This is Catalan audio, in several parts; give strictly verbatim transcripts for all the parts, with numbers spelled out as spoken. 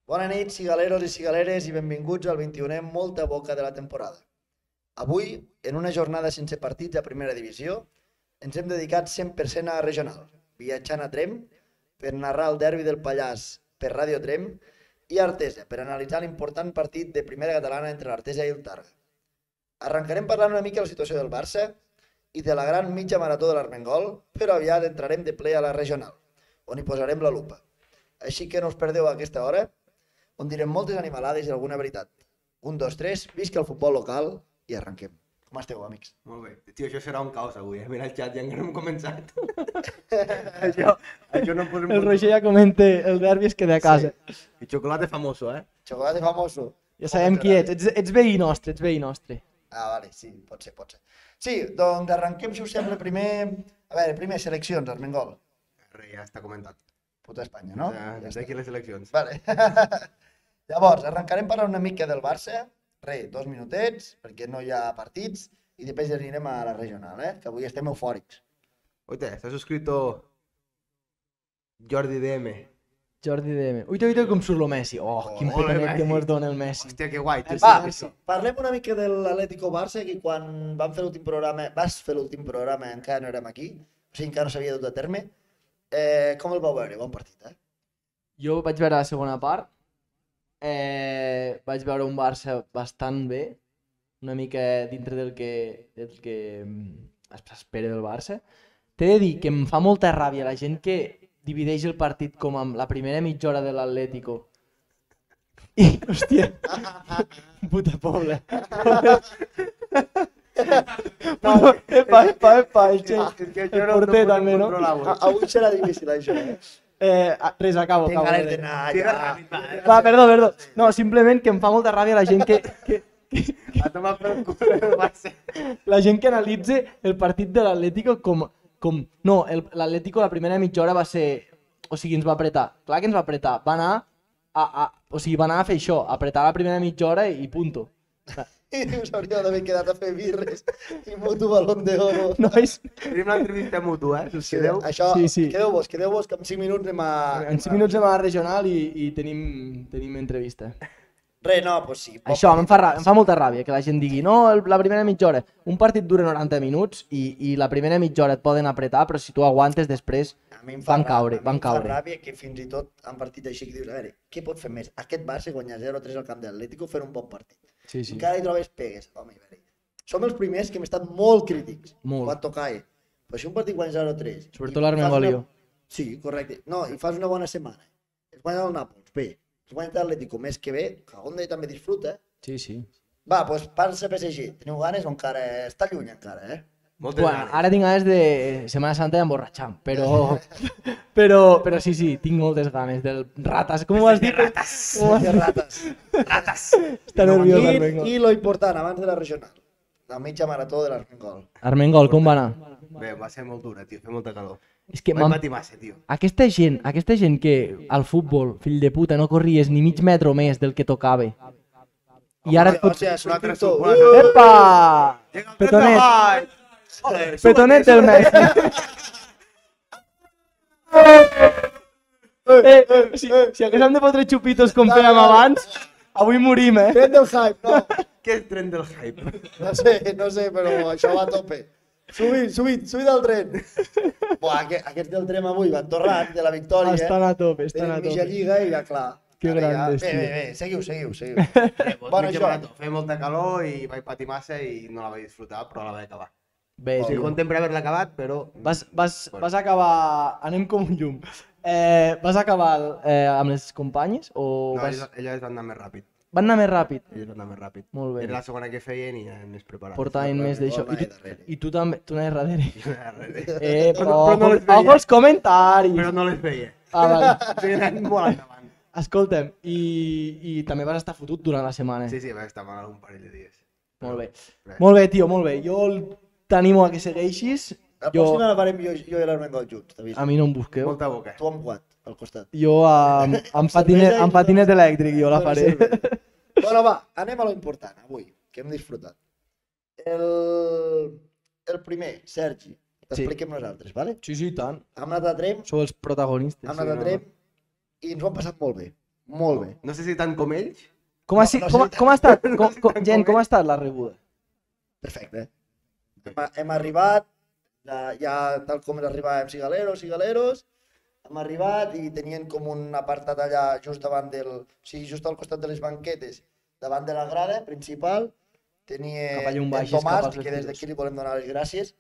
Bona nit, cigaleros i cigaleres, i benvinguts al vint-i-unè Molta Boca de la temporada. Avui, en una jornada sense partits a primera divisió, ens hem dedicat cent per cent a la regional, viatjant a Trem per narrar el derbi del Pallars per Ràdio Trem i a Artesa per analitzar l'important partit de primera catalana entre l'Artesa i el Targa. Arrencarem parlant una mica de la situació del Barça i de la gran mitja marató de l'Armengol, però aviat entrarem de ple a la regional, on hi posarem la lupa. Així que no us perdeu a aquesta hora, on direm moltes animalades i alguna veritat. Un, dos, tres, visca el futbol local i arrenquem. Com esteu, amics? Molt bé. Tio, això serà un caos avui, eh? Mira el xat, ja encara no hem començat. això, això no podem... El Roger ja comenta, el derbi es queda a casa. Sí. I xocolate famoso, eh? Xocolate famoso. Ja sabem qui ets. ets, ets veí nostre, ets veí nostre. Ah, vale, sí, pot ser, pot ser. Sí, doncs arrenquem, si us sembla, primer... A veure, primer seleccions, Armengol. Res, ja està comentat. Puta Espanya, no? Ja, ja aquí les eleccions. Vale. Llavors, arrencarem parlant una mica del Barça. Re, dos minutets, perquè no hi ha partits, i després anirem a la regional, eh? Que avui estem eufòrics. Oite, está suscrito Jordi D M. Jordi D M. Uita, uita com surt lo Messi. Oh, quin Ole, petonet Messi. que mos dona el Messi. Hòstia, que guai, tio. Va, sí, sí. parlem una mica de l'Atlético Barça, que quan vam fer l'últim programa, vas fer l'últim programa, encara no érem aquí, o sigui, encara no s'havia dut a terme. Eh, com el vau veure? Bon partit, eh? Jo vaig veure la segona part. Eh, vaig veure un Barça bastant bé, una mica dintre del que, del que mm, s'espera del Barça. T'he de dir que em fa molta ràbia la gent que divideix el partit com amb la primera mitja hora de l'Atlético. I, hòstia, puta pobla. No, epa, epa, epa, el Che. És que El porter també, no? A- Avui serà difícil, això, eh? Eh, res, acabo, Tinc acabo. ganes d'anar ja. Va, perdó, perdó. No, simplement que em fa molta ràbia la gent que, que, A tomar pel cul el Barça. la gent que analitza el partit de l'Atlético com, com... No, el- l'Atlético la primera mitja hora va ser... O sigui, ens va apretar. Clar que ens va apretar. Va anar a, a... O sigui, va anar a fer això, apretar la primera mitja hora i punto. I us hauríeu d'haver quedat a fer birres i mutu balón d'oro. Nois, Tenim una entrevista mutua, eh? Si us quedeu. Això, Sí, sí. quedeu-vos, quedeu-vos, que en cinc minuts anem a... en cinc minuts anem a la regional i, i tenim, tenim entrevista. Re, no, doncs sí. bon Això, em partit. fa, rà- em fa molta ràbia que la gent digui no, el, la primera mitja hora. Un partit dura noranta minuts i, i la primera mitja hora et poden apretar, però si tu aguantes després A mi em fa van ràbia, caure, a mi van em fa caure. ràbia que fins i tot han partit així que dius, a veure, què pot fer més? Aquest Barça guanyar zero a tres al camp de l'Atlético fer un bon partit. Sí, sí. Encara hi trobes pegues. Home, a veure, som els primers que hem estat molt crítics. Molt. Quan tocae. Però si un partit guanya zero a tres... Sobretot i l'Armengol fas i una- jo. Sí, correcte. No, i fas una bona setmana. Es guanya el Nàpols, bé. Es guanya l'Atlético més que bé, Cagonda també disfruta. Sí, sí. Va, doncs Barça P S G. Teniu ganes o encara està lluny encara, eh? Moltes Bueno, ganes. ara tinc ganes de Setmana Santa i emborratxar, però, però, però sí, sí, tinc moltes ganes del ratas, com ho has dit? Ratas. Que rates. Rates! Està nerviós I, Armengol. I lo important, abans de la regional, la mitja marató de l'Armengol. Armengol, com va anar? Bé, va ser molt dura, tio. Fer molta calor. És que Vaig m'han- patir massa, tio. aquesta gent, aquesta gent que al futbol, fill de puta, no corries ni mig metro més del que tocava. I ara et O pots... sigui, és un altre Suscriptor. tu. Una altra- Epa! Llega el Petonet. Ay. Joder, Petonet súbete, del Messi. Eh, eh, si, si haguéssim de fotre xupitos com fèiem abans, avui morim, eh? Tren del hype, no. Què és tren del hype? No sé, no sé, però això va a tope. Subit, subit, subit al tren. Buah, aquest, aquests del tren avui van torrant de la victòria. Estan a tope, estan Tenen a mitja tope. lliga i ja clar. Que Ara ja- grandes, Bé, tio. bé, bé, seguiu, seguiu, seguiu. Bé, doncs, Bueno, mitja això. marató. Feia molta calor i vaig patir massa i no la vaig disfrutar, però la vaig acabar. Bé, Estic tio. content per haver-la acabat, però... Vas, vas, vas acabar... Anem com un llum. Eh, vas acabar eh, amb les companyes o No, vas... elles, elles van anar més ràpid. van anar més ràpid? Elles van anar més ràpid. Molt bé. Era la segona que feien i anaven més preparats. Portaven més d'això. I, Anaven tu, darrere. I tu també, tu anaves darrere. Però, Eh, però, però no les veia. ojo els comentaris. però no les veia. Ah, vale. O sigui, anaven molt endavant. Escolta'm, i, i també vas estar fotut durant la setmana. Sí, sí, vaig estar mal algun parell de dies. Molt bé. Res. Molt bé, tio, molt bé. Jo el- t'animo a que segueixis. La Jo, pròxima la farem jo, jo i l'Armengol junts, t'aviso. a mi no em busqueu. Molta boca. Tu amb quat, al costat. Jo amb, amb, patinet, cervesa i amb patinet elèctric jo la Amb faré. cervesa. Bueno, va, anem a lo important, avui, que hem disfrutat. El, el primer, Sergi, t'expliquem nosaltres, vale? Sí, sí, i tant. Hem anat a Trem, Sou els protagonistes. hem anat a no. Trem i ens ho hem passat molt bé. Molt bé. No sé si tant com ells. Com ha, No, si, no sé com, si com ha estat, no com, sé com, tant gent, com com ha ell. estat la rebuda? Perfecte. Hem, hem arribat, ja, ja tal com arribàvem Cigaleros, Cigaleros, hem arribat i tenien com un apartat allà just davant del, o sigui, just al costat de les banquetes, davant de la grada principal, tenia Cap a llum en baixes, cap Tomàs, als que des d'aquí li volem donar les gràcies,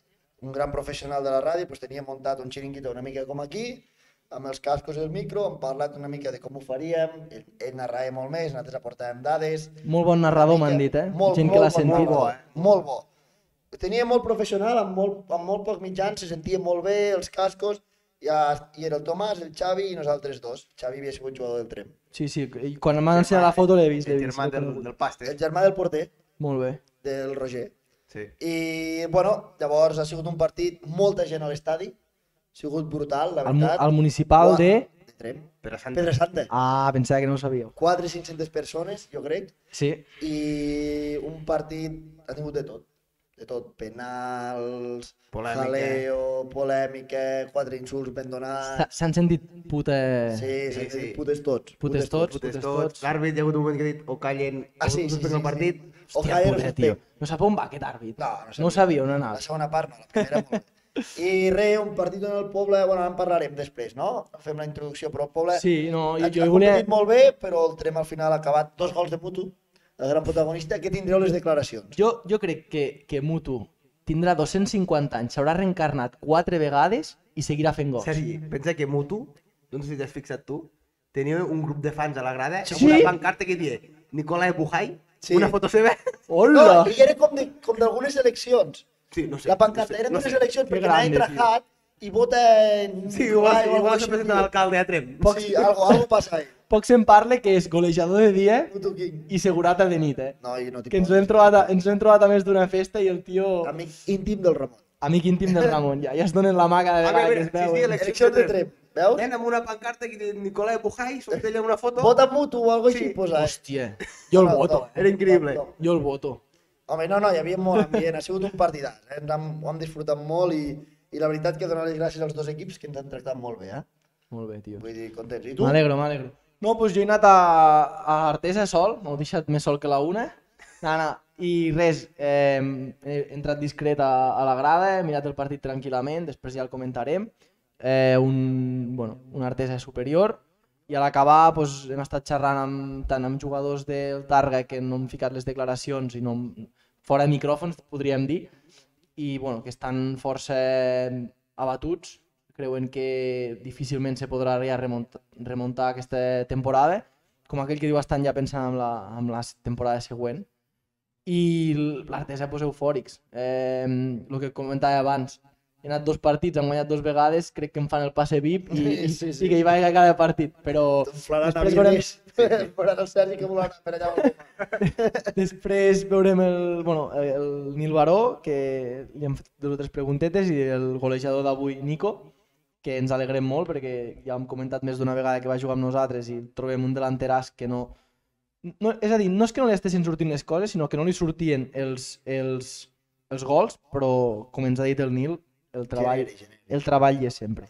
un gran professional de la ràdio, doncs tenia muntat un xiringuito una mica com aquí, amb els cascos i el micro, hem parlat una mica de com ho faríem, ell, ell narrava molt més, nosaltres aportàvem dades. Molt bon narrador una m'han mica- dit, eh? Molt, Gent molt, que l'ha bon sentit. narrador, eh? Molt bo. Tenia molt professional, amb molt, amb molt pocs mitjans, se sentia molt bé, els cascos, ja, i era el Tomàs, el Xavi i nosaltres dos. Xavi havia sigut jugador del Trem. Sí, sí, i quan m'han ensenyat la foto l'he vist, l'he El vist. germà l'he del, conegut. del Paste. El germà del porter, Molt bé. del Roger. Sí. I, bueno, llavors ha sigut un partit, molta gent a l'estadi, ha sigut brutal, la Al, mu- veritat. al municipal Uah, de... de Trem. Però Sant... Pedra Santa. Ah, pensava que no ho sabíeu. quatre o cinc-centes persones, jo crec, Sí, i un partit ha tingut de tot. De tot, penals, Polèmica. jaleo, polèmica, quatre insults ben donats. S'ha- s'han sentit puta... Sí, sí, sí, sí, sí. putes tots. Putes tots. Putes Putes tots. tots. L'àrbit hi ha hagut un moment que ha dit o callen Ah, o sí, sí, suspenen sí, el partit. sí. Hòstia, Ojalá puta, no tio. suspèn. No sap on va aquest àrbit. No, no, No ho sabia on anava. La segona part no, la primera molt bé. I res, un partit en el poble, bueno, en parlarem després, no? Fem la introducció, però el poble Sí, no, ha, jo, jo ha hi volia... competit molt bé, però el Trem al final ha acabat dos gols de Mutu, el gran protagonista, que tindreu les declaracions. Jo, jo crec que, que Mutu tindrà dos-cents cinquanta anys, s'haurà reencarnat quatre vegades i seguirà fent gols. Sergi, pensa que Mutu, no sé si t'has fixat tu, tenia un grup de fans a la grada Sí? amb una pancarta que diia Nicolai Bujai, Sí. una foto seva. Hola! No, i era com de- com d'algunes eleccions. Sí, no sé. La pancarta no sé, eren no d'unes sé. eleccions Que perquè anava grande, entrajat i vota en... Sí, igual, Nicolai o algo igual així, se presenta l'alcalde a Trem. Poc, sí, algo, algo passa ahí. Poc se'n parla que és golejador de dia Mutu King. i segurata de nit, eh? No, i no t'hi Que ens poses. l'hem trobat, a, ens l'hem trobat a més d'una festa i el tio... Amic íntim del Ramon. Amic íntim del Ramon, ja, ja es donen la mà cada A vegada veure, que es sí, sí, veuen. eleccions Eleccions de Trem, veus? Nen amb una pancarta que diu Nicolai Bujai, surt ella amb una foto. Vota Mutu o algo així, Sí. posa. eh? Hòstia, jo el No, voto, no, eh? Era increïble. no, no. Jo el voto. Home, no, no, hi havia molt ambient, ha sigut un partidàs, eh? ens hem, ho hem disfrutat molt i, i la veritat que donar les gràcies als dos equips que ens han tractat molt bé, eh? Molt bé, tio. Vull dir, contents. I tu? M'alegro, m'alegro. No, doncs jo he anat a, a Artesa sol, m'ho he deixat més sol que la una. No, no. I res, eh, he entrat discret a, a la grada, he mirat el partit tranquil·lament, després ja el comentarem. Eh, un, bueno, un Artesa superior. I a l'acabar doncs, hem estat xerrant amb, tant amb jugadors del Targa que no hem ficat les declaracions i no, fora de micròfons, podríem dir, i bueno, que estan força abatuts, creuen que difícilment se podrà ja remuntar, remuntar aquesta temporada, com aquell que diu estan ja pensant en la, en la temporada següent. I l'Artesa pues, eufòrics. Eh, el que comentava abans, he anat dos partits, han guanyat dos vegades, crec que em fan el passe V I P i, i, Sí, sí. i que hi vaig a cada partit, però T'enflaran a després veurem, Vides, faran el Sergi que volarà per allà. on va. després veurem el, bueno, el Nil Baró, que li hem fet dues o tres preguntetes, i el golejador d'avui, Nico, que ens alegrem molt perquè ja hem comentat més d'una vegada que va jugar amb nosaltres i trobem un delanteràs que no... no... És a dir, no és que no li estessin sortint les coses, sinó que no li sortien els, els, els gols, però com ens ha dit el Nil, el treball, Genere, genere. el treball hi és sempre.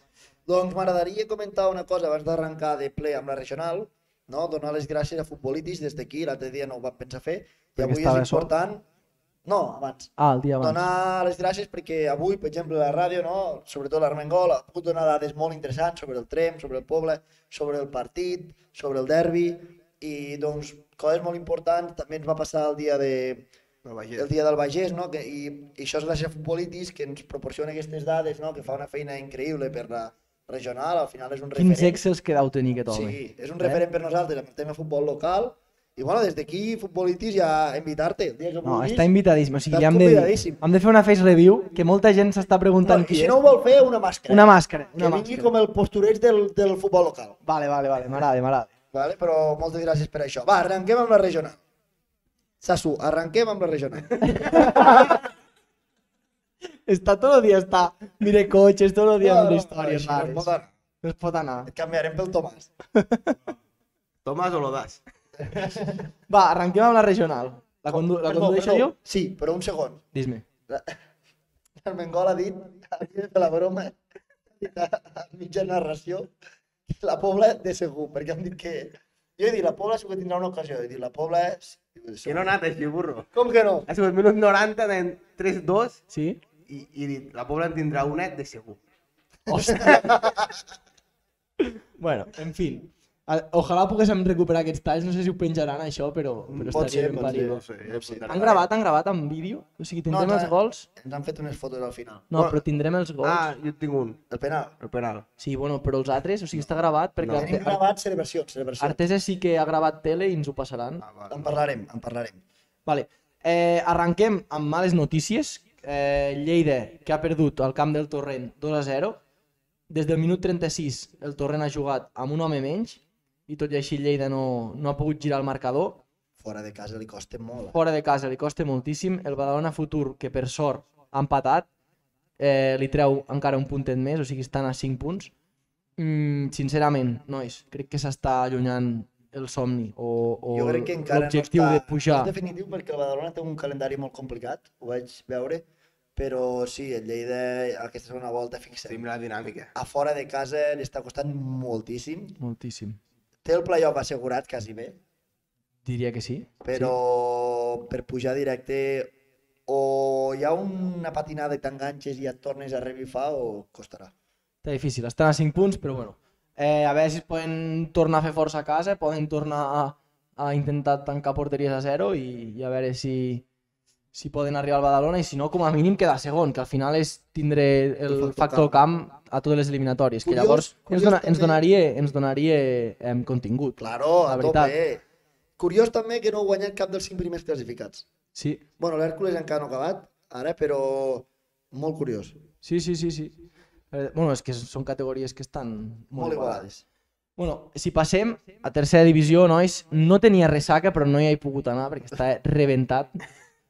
Doncs m'agradaria comentar una cosa abans d'arrencar de ple amb la regional, no? Donar les gràcies a futbolistes des d'aquí, l'altre dia no ho vam pensar fer, i Perquè avui estava és important... No, abans. Ah, el dia abans. Donar les gràcies perquè avui, per exemple, la ràdio, no? Sobretot l'Armengol, ha pogut donar dades molt interessants sobre el Trem, sobre el poble, sobre el partit, sobre el derbi, i doncs coses molt importants. També ens va passar el dia, de, No, vaja. el dia del Bagès, no? Que, i, i això és gràcies a Futbolitis, que ens proporciona aquestes dades, no? Que fa una feina increïble per la regional, al final és un Quins referent. excels que deu tenir aquest home. Sí, és un Eh? referent per nosaltres amb el tema futbol local. I bueno, des d'aquí, Futbolitis, ja invitar-te el dia que No, vulguis. està invitadíssim. O sigui, Estàs ja hem de, dir, convidadíssim. hem de fer una face review, que molta gent s'està preguntant No, I qui si és. no ho vol fer, una màscara. Una màscara. que Una vingui màscara. com el postureig del, del futbol local. Vale, vale, vale, m'agrada, m'agrada. Vale? Però moltes gràcies per això. Va, arrenquem amb la regional. Sasu, arrenquem amb la regional. Està tot el dia, està, mire cotxes, tot el dia No, amb no, històries no, això no rares. pot anar. No es pot anar. Et canviarem pel Tomàs. Tomàs o l'Odas? Va, arrenquem amb la regional. La, condu la Perdó, condueixo perdó. jo? Sí, però un segon. Dis-me. El Mengol ha dit, havia de fer la broma, ha dit a, a mitja narració, la Pobla de segur, perquè han dit que, Jo he dit, la Pobla sí que tindrà una ocasió. He dit, la Pobla és... Que no ha anat així, burro. Com que no? Ha sigut minut noranta, anem tres dos, Sí? i, i he dit, la Pobla en tindrà una de segur. Hòstia! Bueno, en fi. A- Ojalà poguéssim recuperar aquests talls, no sé si ho penjaran això, però, però Pot ser, estaria ben pot ser. parit. No sé, ja Sí. apuntaré. Han gravat, han gravat en vídeo? O sigui, tindrem No, els no. gols? Ens han fet unes fotos al final. No, però tindrem els gols. Ah, jo tinc un, El penal. el penal. Sí, bueno, però els altres, o sigui, està gravat perquè No. Arte- Tenim gravat celebracions, celebracions. Artesa sí que ha gravat tele i ens ho passaran. Ah, vale. En parlarem, en parlarem. Vale. Eh, arranquem amb males notícies. Eh, Lleida, que ha perdut al camp del Torrent dos a zero. Des del minut trenta-sis el Torrent ha jugat amb un home menys i tot i així Lleida no, no ha pogut girar el marcador. Fora de casa li costa molt. Fora de casa li costa moltíssim. El Badalona Futur, que per sort ha empatat, eh, li treu encara un puntet més, o sigui, estan a cinc punts. Mm, sincerament, nois, crec que s'està allunyant el somni o, o Jo crec que encara no l'objectiu està... de pujar. No és definitiu perquè el Badalona té un calendari molt complicat, ho vaig veure, però sí, el Lleida aquesta segona volta, fixa, Tenim la dinàmica. a fora de casa li està costant moltíssim. Moltíssim. Té el playoff assegurat quasi bé, Diria que sí. però per pujar directe o hi ha una patinada i t'enganxes i et tornes a revifar o costarà. Està difícil, estan a cinc punts, però bueno. Eh, a veure si es poden tornar a fer força a casa, poden tornar a, a intentar tancar porteries a zero i, i a veure si, si poden arribar al Badalona i si no, com a mínim quedar segon, que al final és tindre el, El factor factor camp a totes les eliminatòries, que Curiós- llavors curiós ens, dona, ens també- donaria, ens donaria eh, contingut. Claro, La a veritat. tope. Curiós també que no ha guanyat cap dels cinc primers classificats. Sí, Bueno, l'Hèrcules encara no ha acabat, ara, però molt curiós. sí, sí, sí. sí. Eh, bueno, és que són categories que estan molt, Molt igualades. igualades. Bueno, si passem a tercera divisió, nois, no tenia ressaca, però no hi he pogut anar perquè està rebentat.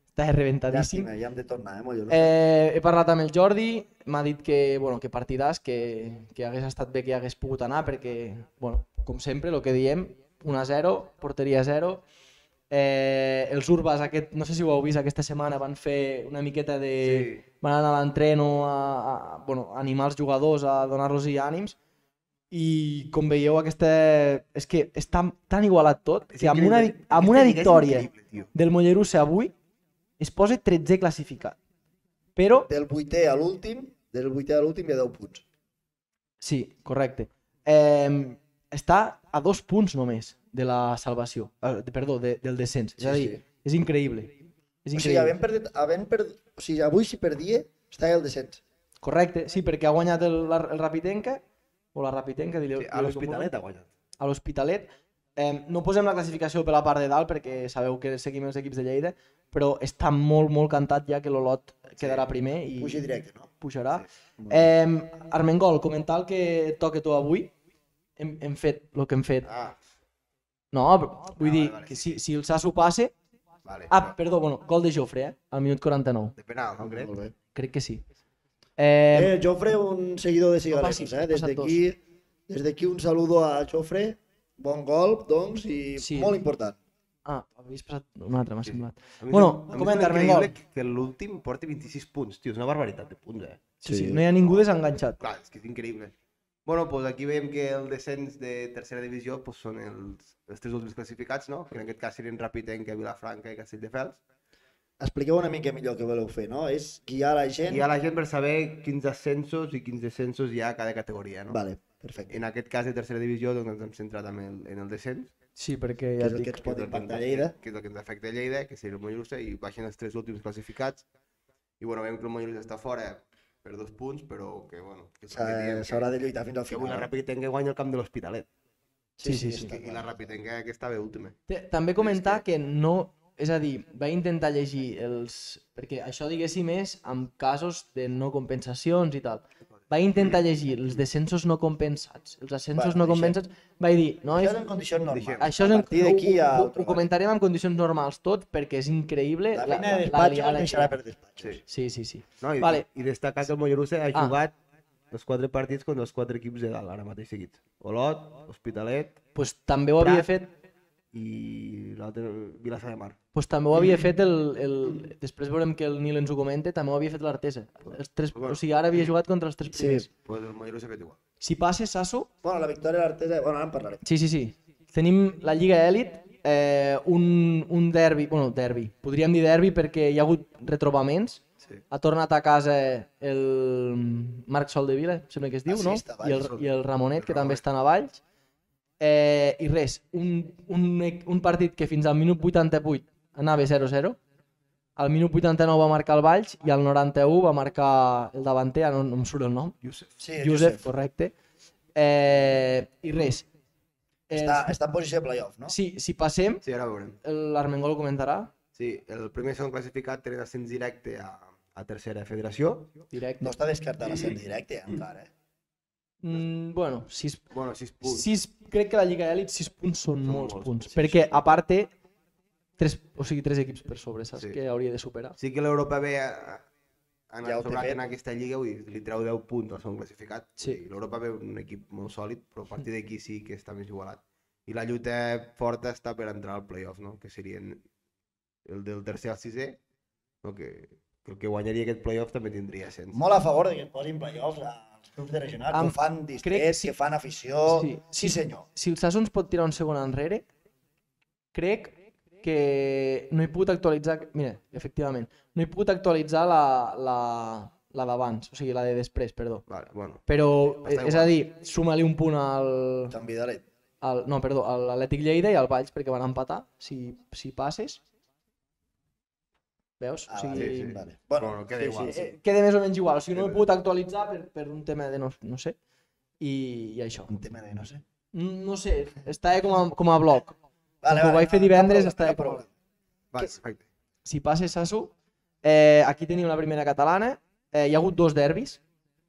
Està reventadíssim. Llàstima, ja hem de tornar, eh, molt Eh, he parlat amb el Jordi, m'ha dit que, bueno, que partidàs, que, que hagués estat bé que hi hagués pogut anar perquè, bueno, com sempre, el que diem, un a zero, porteria a zero. Eh, els Urbas, aquest, no sé si ho heu vist, aquesta setmana van fer una miqueta de... Sí. Van anar a l'entreno a, a, bueno, a animar els jugadors, a donar-los ànims. I com veieu, aquesta... és que està tan igualat tot És que amb una, increïble. amb una Aquesta lliga és victòria increïble, tio. del Mollerussa avui es posa tretzè classificat. Però, Del vuitè a l'últim, del vuitè a l'últim hi ha deu punts. sí, correcte. Eh, està a dos punts només de la salvació, eh, de- perdó, de, del descens. És a Sí, dir, sí. és increïble. És O sigui, increïble. havent perdut, havent perdut, o sigui, avui si perdia, està al descens. Correcte, sí, perquè ha guanyat el, la- el Rapitenca, o la Rapitenca, digueu. Sí, a l'Hospitalet ha guanyat. A l'Hospitalet. Eh, no posem la classificació per la part de dalt perquè sabeu que seguim els equips de Lleida, però està molt, molt cantat ja que l'Olot quedarà primer i Puja directe, no? pujarà. Eh, Armengol, comentar el que et toca tu avui. Hem, hem fet el que hem fet. Ah, No, però vull Ah, dir vale, vale, que sí, si, si el Sasso passe... vale. Ah, perdó, bueno, gol de Jofre, eh? Al minut quaranta-nou. De penal, no crec? Molt bé. Crec que sí. Eh, Eh, Jofre, un seguidor de Cigaleros, passi, eh? Des ha passat d'aquí des d'aquí un saludo a Jofre, bon gol, doncs, i Sí. molt important. ah, havies passat un altre, m'ha Sí. semblat. A mi Bueno, sem- a mi comenta, sembla Armengol. increïble que l'últim porti vint-i-sis punts, tio, és una barbaritat de punts, eh? Sí, sí, no hi ha ningú desenganxat. Clar, és que és increïble. Bueno, doncs aquí veiem que el descens de tercera divisió pues, són els, els tres últims classificats, no? Que en aquest cas serien Rapitenca, Vilafranca i Castelldefels. Expliqueu una mica millor què voleu fer, no? És guiar la gent... I a la gent per saber quins ascensos i quins descensos hi ha a cada categoria, no? Vale, perfecte. En aquest cas de tercera divisió doncs, ens hem centrat en el, en el descens, Sí, perquè Que ja és et el que dic. ens pot que és el que impactar a ens Lleida. afecta- que és el que ens afecta a Lleida, que seria el Mollerussa, i baixen els tres últims classificats. I bueno, veiem que el Mollerussa està fora per dos punts, però que bueno... Que és el que diem, S'ha- S'haurà que, de lluitar fins al que avui la final. Rapitenca guanya el camp de l'Hospitalet. Sí, sí, sí. està I la clar. Rapitenca que estava última. Té- També comentar que no... És a dir, vaig intentar llegir els... Perquè això, diguéssim, és amb casos de no compensacions i tal. Vaig intentar llegir els descensos no compensats, els ascensos Bueno, no deixem. compensats. Vaig dir, no, Això és... és en condicions normals. Deixem. Això és a en... partir d'aquí ho, a... ho, ho comentarem en condicions normals tot, perquè és increïble La la, feina la, de la despatxos liada es que deixarà hi ha. per despatxos. Sí, sí, sí. No, i, Vale. I destacar que el Mollerussa ha Ah. jugat els quatre partits contra els quatre equips de dalt, ara mateix seguits. Olot, Hospitalet Pues també ho havia Prat. fet i l'altre Vilassar de Mar. pues també ho havia fet el, el... Després veurem que el Nil ens ho comenta, també ho havia fet l'Artesa. Els tres... O sigui, ara havia jugat contra els tres Sí. primers. Pues el Mollerussa ha fet igual. Si passa, Sasso... Bueno, la victòria de l'Artesa... Bueno, ara en parlarem. Sí, sí, sí. tenim la Lliga Elit, eh, un, un derbi, bueno, derbi, podríem dir derbi perquè hi ha hagut retrobaments. Sí. Ha tornat a casa el Marc Soldevila, sembla que es diu, Ah, sí, no? està a I el, Valls. I el Ramonet, El que també Ramonet. estan a Valls. Eh, I res, un, un, un partit que fins al minut vuitanta-vuit anava zero zero, al minut vuitanta-nou va marcar el Valls i al noranta-u va marcar el davanter, no, no em surt el nom, Josep. Sí, Josep, Josep. correcte. Eh, I res. Està, Eh, està en posició de playoff, no? si, si passem, Sí, ara ho veurem. l'Armengol ho comentarà, Sí, el primer i segon classificat tenen ascens directe a, a tercera federació. directe. No està descartat l'ascens directe, eh, encara. Eh? Mm, bueno, sis, Bueno, sis punts. sis, crec que la Lliga Elit sis punts són, Són molts, molts punts, punts, sí, perquè sí. a part té tres, o sigui, tres equips per sobre, saps? Sí. Que hauria de superar. Sí que l'Europa B ha, ha Ja ho anat té sobrat fet. en aquesta lliga, vull dir, li treu deu punts al segon classificat. Sí. Vull dir, L'Europa B és un equip molt sòlid, però a partir d'aquí sí que està més igualat. I la lluita forta està per entrar al playoff, no? Que serien el del tercer al sisè, no? que, que el que guanyaria aquest playoff també tindria sens. Molt a favor de que es posin playoffs als clubs de regional, Am- que ho fan crec distrets, sí. que fan afició... Sí, Sí, sí. senyor. Si el Sassons pot tirar un segon enrere, crec que no he pogut actualitzar... Mira, efectivament, no he pogut actualitzar la, la, la d'abans, o sigui, la de després, perdó. Vale, bueno. Però, Està és igual. a dir, suma-li un punt al, Sant Vidalet. al, no, perdó, a l'Atlètic Lleida i al Valls perquè van empatar, si, si passes. Veus? Ah, o sigui, vale, sí, sí. vale. Bueno, Bueno, queda sí, igual. sí, eh, sí. queda més o menys igual, o sigui, no ho he Queda- pogut actualitzar per, per un tema de no, no sé, i, i això. Un tema de no sé. Mm, No sé, estava com a, com a bloc. Vale, ho vaig fer divendres, està està com a- prou. Vale, Que- perfecte. Si passes Sasu, eh, aquí tenim la primera catalana, eh, hi ha hagut dos derbis.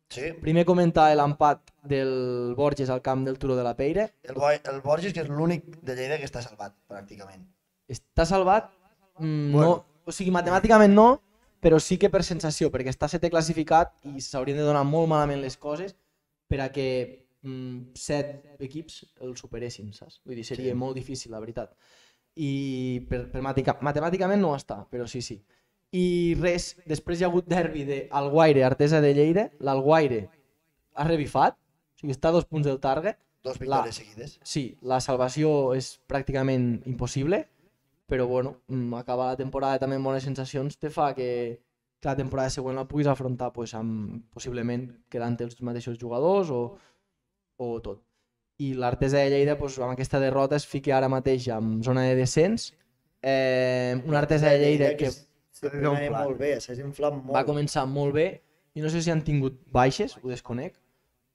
Sí, Primer comentar l'empat del Borges al camp del Turó de la Peira. el, Bo el Borges, que és l'únic de Lleida que està salvat, pràcticament. Està salvat? Mm, Bueno. no, o sigui, matemàticament no, però sí que per sensació, perquè està setè classificat i s'haurien de donar molt malament les coses per a que mm, set equips el superessin, saps? Vull dir, seria Sí. molt difícil, la veritat. I per, per matica, matemàticament no està, però sí, sí. I res, després hi ha hagut derbi d'Alguaire, Artesa de Lleida. L'Alguaire ha revifat, o sigui, està a dos punts del target. Dos victòries seguides. Sí, la salvació és pràcticament impossible, però bueno, mm, acabar la temporada també amb bones sensacions te fa que, que la temporada següent la puguis afrontar pues, amb, possiblement quedant els mateixos jugadors o, o tot. I l'Artesa de Lleida pues, amb aquesta derrota es fica ara mateix en zona de descens. Eh, una Artesa de Lleida que sempre S'ha anava inflat. molt bé, s'ha inflat molt. va començar molt bé i no sé si han tingut baixes, ho desconec,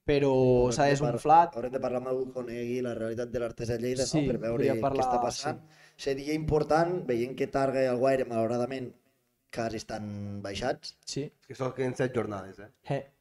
però Haurem s'ha de par- desunflat. Haurem de parlar amb algú que conegui la realitat de l'Artesa de Lleida, Sí, no? Per veure podria què parlar, està passant. Seria important, veient que Targa i el Guaire, malauradament, quasi estan baixats, Sí. És que són queden set jornades, eh?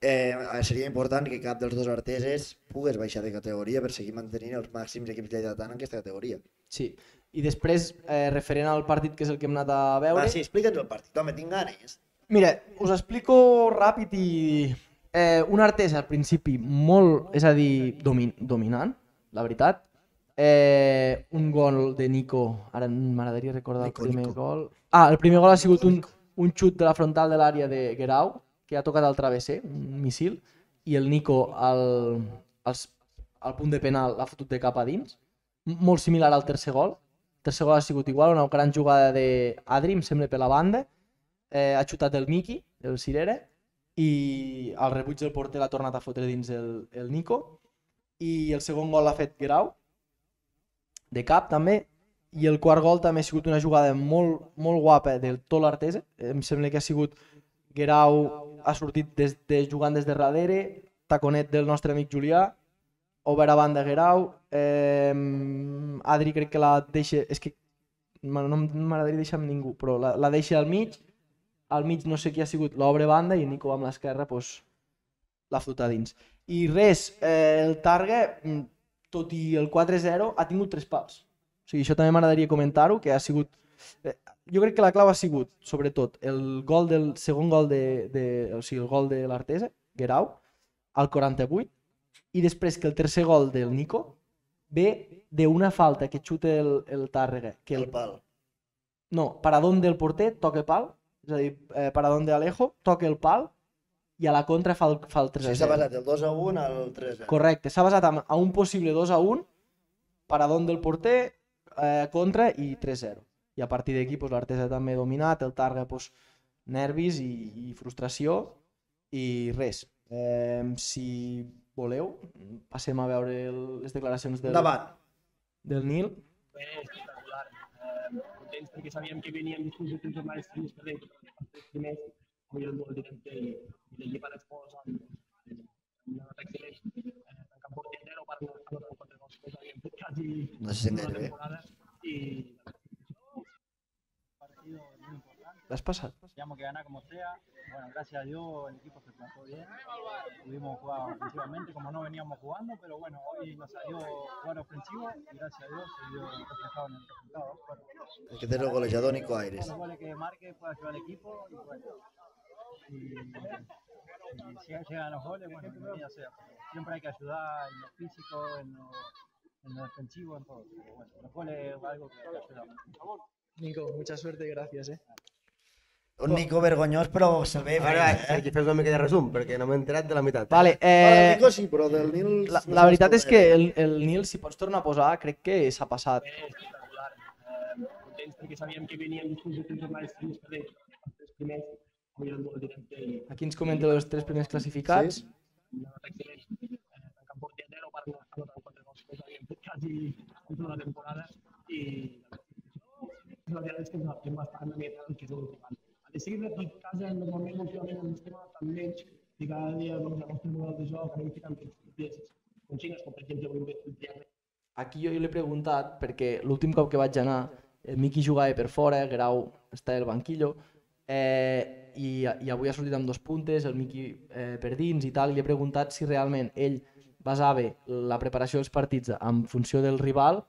Eh, eh, seria important que cap dels dos arteses pogués baixar de categoria per seguir mantenint els màxims equips lleidatans en aquesta categoria. sí. I després, eh, referent al partit que és el que hem anat a veure... Va, sí, explica'ns el partit, home, tinc ganes. Mira, us explico ràpid i... Eh, una Artesa al principi molt, és a dir, domin dominant, la veritat. Eh, un gol de Nico, ara m'agradaria recordar Nico, el primer Nico. gol. Ah, el primer gol ha sigut un, un xut de la frontal de l'àrea de Guerau, que ha tocat al travesser, un missil, i el Nico al, als, al punt de penal l'ha fotut de cap a dins. M- Molt similar al tercer gol. El tercer gol ha sigut igual, una gran jugada d'Adri, em sembla, per la banda. Eh, ha xutat el Miki, el Cirera, i al rebuig del porter l'ha tornat a fotre dins el, el Nico. I el segon gol l'ha fet Guerau, de cap també, i el quart gol també ha sigut una jugada molt, molt guapa del tot l'Artesa. Em sembla que ha sigut Guerau ha sortit des de, jugant des de darrere, taconet del nostre amic Julià, obert a banda Guerau, eh, Adri crec que la deixa, és que no no m'agradaria deixar amb ningú, però la, la deixa al mig, al mig no sé qui ha sigut, l'obre banda i Nico amb l'esquerra pues, l'ha fotut a dins. I res, eh, el Targa, mm, tot i el quatre zero, ha tingut tres pals. O sigui, això també m'agradaria comentar-ho, que ha sigut... Eh, jo crec que la clau ha sigut, sobretot, el gol del segon gol de, de o sigui, el gol de l'Artesa, Guerau, al quaranta-vuit, i després que el tercer gol del Nico ve d'una falta que xuta el, el Tàrrega, que El el, pal. no, paradón del porter toca pal, és a dir, eh, paradón de Alejo, toca el pal i a la contra fa el, fa el O tres sigui, a s'ha zero. basat el dos a un al tres a zero. Correcte, s'ha basat en- a un possible dos a un, paradón del porter, eh, contra i tres zero. I a partir d'aquí pues, l'Artesa també dominat, el Targa pues, nervis i, i frustració i res. Eh, si voleu, passem a veure el, les declaracions del, Endavant. del Nil. Bé, espectacular. Eh, contents perquè sabíem que veníem després de tres jornades seguides perdent els tres primers, avui el duel directe i, i l'equip ha respost amb, amb una nota excel·lent. Eh, en camp porter zero, per anotar un quatre gols que havíem fet quasi No se sent tota la gaire bé. temporada i partido muy importante. L'has passat? Teníamos que ganar como sea. Bueno, gracias a Dios el equipo se plantó bien. Pudimos jugar ofensivamente como no veníamos jugando, pero bueno, hoy nos salió jugar ofensivo y gracias a Dios se vio reflejado en el resultado. Bueno, El que té el golejador Nico todos Aires. los goles que marque pueda ayudar al equipo y bueno. Y, y si llegan los goles, bueno, bienvenida sea. Siempre hay que ayudar en lo físico, en lo, en lo defensivo, en todo. Pero bueno, los goles es algo que ayuda mucho. Nico, mucha suerte i gràcies, eh? Un Nico vergonyós, però se'l ve Ara, fent, eh? que fes una mica de resum, perquè no m'he enterat de la meitat. Vale, Eh... El eh, Nico sí, però del Nil... la, la veritat és que el, el Nil, si pots tornar a posar, crec que s'ha passat. Bé, espectacular. Eh, contents perquè sabíem que veníem després de tres jornades seguides perdent els tres primers, avui el duel directe i Aquí ens comenta els tres primers classificats. Sí. una nota excel·lent. Eh, en camp porter zero, per anotar un quatre gols que havíem fet quasi tota la temporada i la veritat és que ens adaptem bastant a el que és el rival. A de seguir aquí a casa, normalment últimament ens estem adaptant menys i cada dia doncs, el nostre model de joc anem ficant peces consignes, com per exemple avui hem fet triangle. Aquí jo l'he preguntat perquè l'últim cop que vaig anar el Miqui jugava per fora, Grau està al banquillo eh, i, i avui ha sortit amb dos puntes, el Miqui eh, per dins i tal, i li he preguntat si realment ell basava la preparació dels partits en funció del rival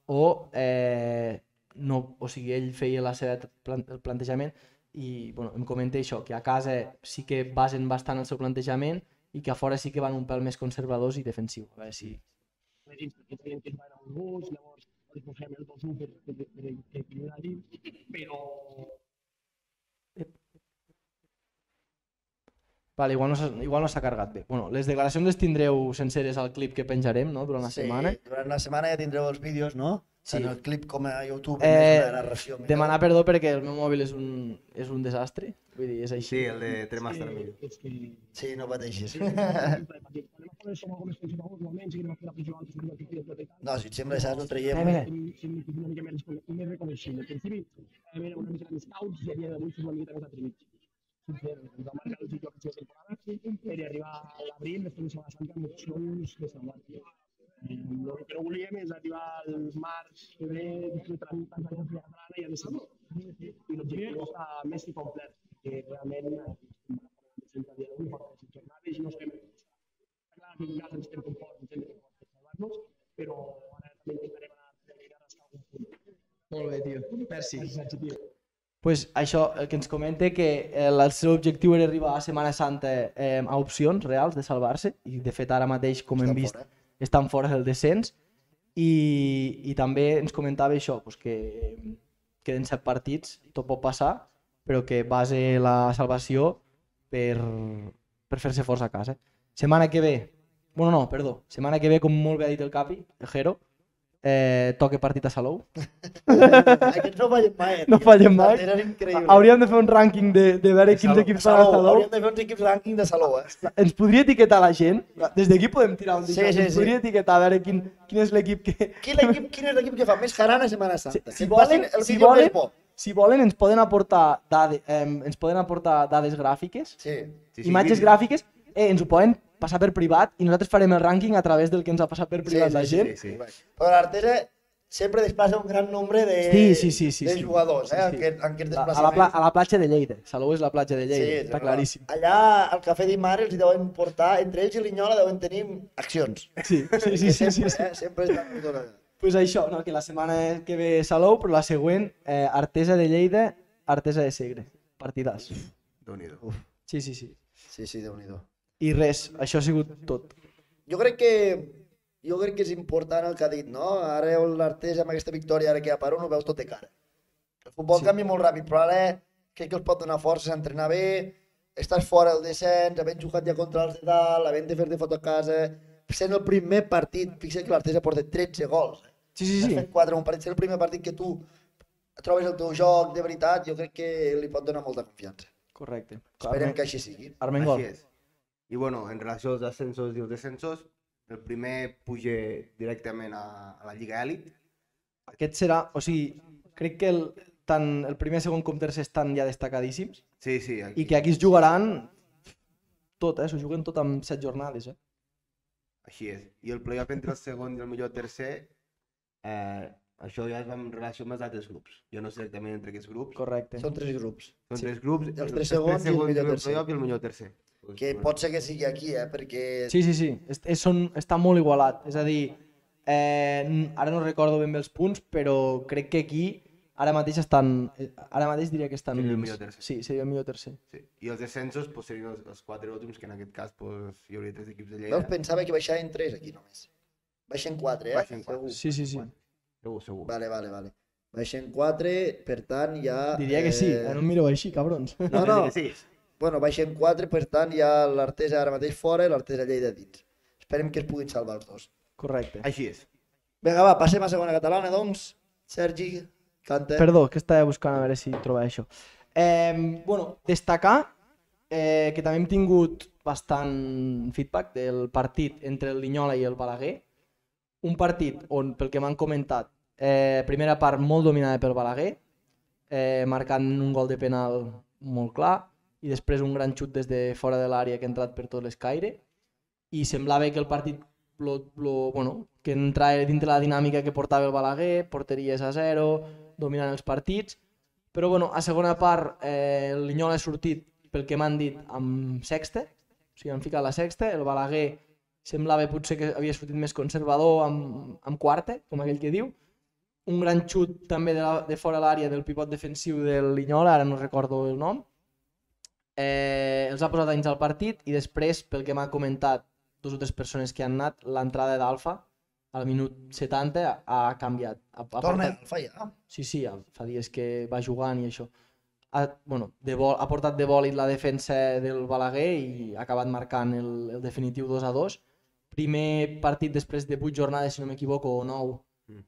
o, eh, no, o sigui, ell feia la seva plan el plantejament i bueno, em comenta això, que a casa sí que basen bastant el seu plantejament i que a fora sí que van un pèl més conservadors i defensius. A veure si... dins, perquè sabíem que es va anar un gos, llavors els posem el dos u per, per, per, per equilibrar dins, però Vale, igual no s'ha igual no s'ha carregat bé. Bueno, les declaracions les tindreu senceres al clip que penjarem, no?, durant la Sí, setmana. durant la setmana ja tindreu els vídeos, no? Sí. Tant el clip com a YouTube, Eh, més una narració. més- Demanar perdó perquè el meu mòbil és un, és un desastre, vull dir, és així. Sí, el de Tremaster és millor. que, és que Sí, no pateixis. sí, perquè quan anem a fer som algo més conservadors, normalment sí que anem a fer la pressió alta sobre el que queda tot i tal. No, si et sembla, saps, ho traiem. Eh, mira. Si si una mica més, més reconeixible. Al principi eh, era una mica més scouts i a dia d'avui som una mica més atrevits. Sincerament, ens va marcar el sitio que temporada per arribar a l'abril, després de Setmana Santa, amb opcions de salvar. Eh, el que no volíem és arribar al març, febrer, després de tants anys de Vilagrana i a decidir. I l'objectiu està més que complet, que realment estem sempre a dia d'avui, portem cinc jornades i no estem en el Està clar que en casa ens estem com forts, ens hem de fer per salvar-nos, però ara també intentarem anar a treballar a rascar algun punt. Molt bé, tio. Merci. Gràcies, Sergi, tio. Pues això, el que ens comenta que el, el seu objectiu era arribar a Setmana Santa eh, a opcions reals de salvar-se i de fet ara mateix, com hem Estan vist, fora. estan fora del descens i, i també ens comentava això, pues que queden set partits, tot pot passar, però que base la salvació per, per fer-se força a casa. Setmana que ve, bueno no, perdó, setmana que ve, com molt bé ha dit el Capi, el Jero, eh, toca partit a Salou. Aquests no fallen mai. eh, No tio. fallen mai. Eren increïbles. Hauríem de fer un rànquing de, de veure quins Salou. equips van a Salou, Salou. hauríem de fer uns equips rànquing de Salou, eh? Ens podria etiquetar la gent? Des d'aquí podem tirar un Sí, disc. sí, Ens sí. podria etiquetar a veure quin, quin és l'equip que... Quin, equip, quin és l'equip que fa més jarana a Setmana Si, Santa? si, Que volen, facin el si, vídeo volen, més bo. si volen ens poden aportar, dade, eh, ens poden aportar dades gràfiques, Sí. Sí, sí, imatges vídeo. gràfiques, eh, ens ho poden passar per privat i nosaltres farem el rànquing a través del que ens ha passat per privat la gent. sí, sí. Però l'Artesa sempre desplaça un gran nombre de, Sí, sí, sí, sí, de sí. jugadors, eh? Sí, sí. En, aquest, en aquests A, a, la, desplaçaments. pla, a la platja de Lleida. Salou és la platja de Lleida, Sí, està però claríssim. Allà al Cafè d'Imar els hi deuen portar, entre ells i l'Inyola deuen tenir accions. Sí, sí, sí, Que sí, sí, sempre, sí. Eh? Sempre estan per tot allà. Pues això, no? Que la setmana que ve Salou, però la següent, eh, Artesa de Lleida, Artesa de Segre. Partidàs. Déu-n'hi-do. Sí, sí, sí. Sí, sí, Déu-n'hi-do. I res, això ha sigut tot. Jo crec que jo crec que és important el que ha dit, no? Ara l'Artesa amb aquesta victòria, ara que ja per un, ho veus tot de cara. El futbol Sí. canvia molt ràpid, però ara crec que els pot donar forces a entrenar bé, estàs fora del descens, havent jugat ja contra els de dalt, havent de fer-te foto a casa, sent el primer partit, fixa't que l'Artesa porta tretze gols. Sí, sí, Has sí, fet quatre en un partit, si és el primer partit que tu trobes el teu joc de veritat, jo crec que li pot donar molta confiança. correcte. Esperem Arme- que així sigui. Armengol. Així és. I bueno, en relació als ascensos i els descensos, el primer puja directament a, a la Lliga Elit. Aquest serà, o sigui, crec que el, tant el primer, segon com tercer estan ja destacadíssims Sí, sí, aquí. i que aquí es jugaran tot, eh? S'ho juguen tot amb set jornades, eh? Així és. I el playoff entre el segon i el millor tercer, eh, això ja és en relació amb els altres grups. Jo no sé exactament entre aquests grups. Correcte. Són tres grups. Són sí. tres grups, Els tres segons i el millor tercer. playoff i el millor tercer. Que pot ser que sigui aquí, eh? Perquè Sí, sí, sí, és, és, són, està molt igualat, és a dir, eh, n- ara no recordo ben bé els punts, però crec que aquí ara mateix estan, eh, ara mateix diria que estan Seria el units. millor tercer. Sí, seria el millor tercer. Sí. I els descensos pues, serien els, els quatre últims, que en aquest cas pues, hi hauria tres equips de Lleida. veus, pensava que baixaven tres aquí només. Baixen quatre, eh? Baixen quatre. Segur. Sí, sí, sí. Segur, segur. Vale, vale, vale. Baixen quatre, per tant ja... Diria que sí, eh, no em mireu així, cabrons. No, no, Sí, bueno, baixen quatre, per tant hi ha l'Artesa ara mateix fora i l'Artesa Lleida dins. Esperem que es puguin salvar els dos. Correcte. Així és. Vinga, va, passem a segona catalana, doncs. Sergi, canta. Perdó, que estava buscant a veure si trobava això. Eh, bueno, destacar eh, que també hem tingut bastant feedback del partit entre el Linyola i el Balaguer. Un partit on, pel que m'han comentat, eh, primera part molt dominada pel Balaguer, eh, marcant un gol de penal molt clar, i després un gran xut des de fora de l'àrea que ha entrat per tot l'escaire, i semblava que el partit lo, lo, bueno, que entrava dintre la dinàmica que portava el Balaguer, porteries a zero, dominant els partits, però bueno, a segona part eh, el Linyola ha sortit, pel que m'han dit, amb sexta, o sigui, han ficat la sexta, el Balaguer semblava potser que havia sortit més conservador amb, amb quarta, com aquell que diu, un gran xut també de, la, de fora l'àrea del pivot defensiu del Linyola, ara no recordo el nom, eh, els ha posat dins al partit i després, pel que m'ha comentat dues o tres persones que han anat, l'entrada d'Alfa al minut setanta ha canviat. Ha, ha Torna portat- Alfa ja. Sí, sí, fa dies que va jugant i això. Ha, bueno, de vol, ha portat de bòlit la defensa del Balaguer i ha acabat marcant el, el definitiu dos a dos. Primer partit després de vuit jornades, si no m'equivoco, o nou, Mm.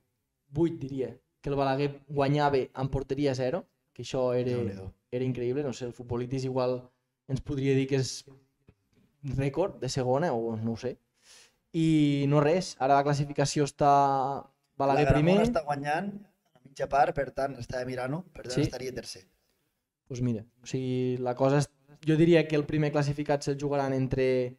vuit diria, que el Balaguer guanyava amb porteria zero, que això era, Déu-n'hi-do. era increïble, no sé, el futbolític igual ens podria dir que és rècord de segona o no ho sé. I no res, ara la classificació està Balaguer La Gramona primer. està guanyant a mitja part, per tant, estava mirant-ho, per tant Sí. estaria tercer. Pues mira, o sigui, la cosa és... Jo diria que el primer classificat se'l jugaran entre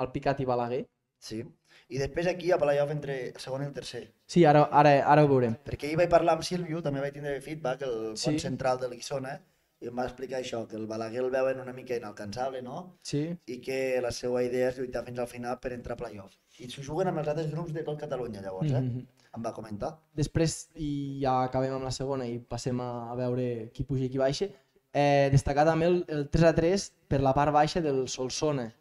el Picat i Balaguer. Sí. I després aquí a playoff entre el segon i el tercer. Sí, ara, ara, ara ho veurem. Perquè ahir vaig parlar amb Sílvio, també vaig tindre feedback, el Sí. pont central de l'Iguissona, i em va explicar això, que el Balaguer el veuen una mica inalcançable, no? Sí, I que la seva idea és lluitar fins al final per entrar a playoff. I s'ho juguen amb els altres grups de tot Catalunya, llavors, eh? Mhm. Em va comentar. Després, i ja acabem amb la segona i passem a, a veure qui puja i qui baixa, eh, destacar també el, el tres a tres per la part baixa del Solsona.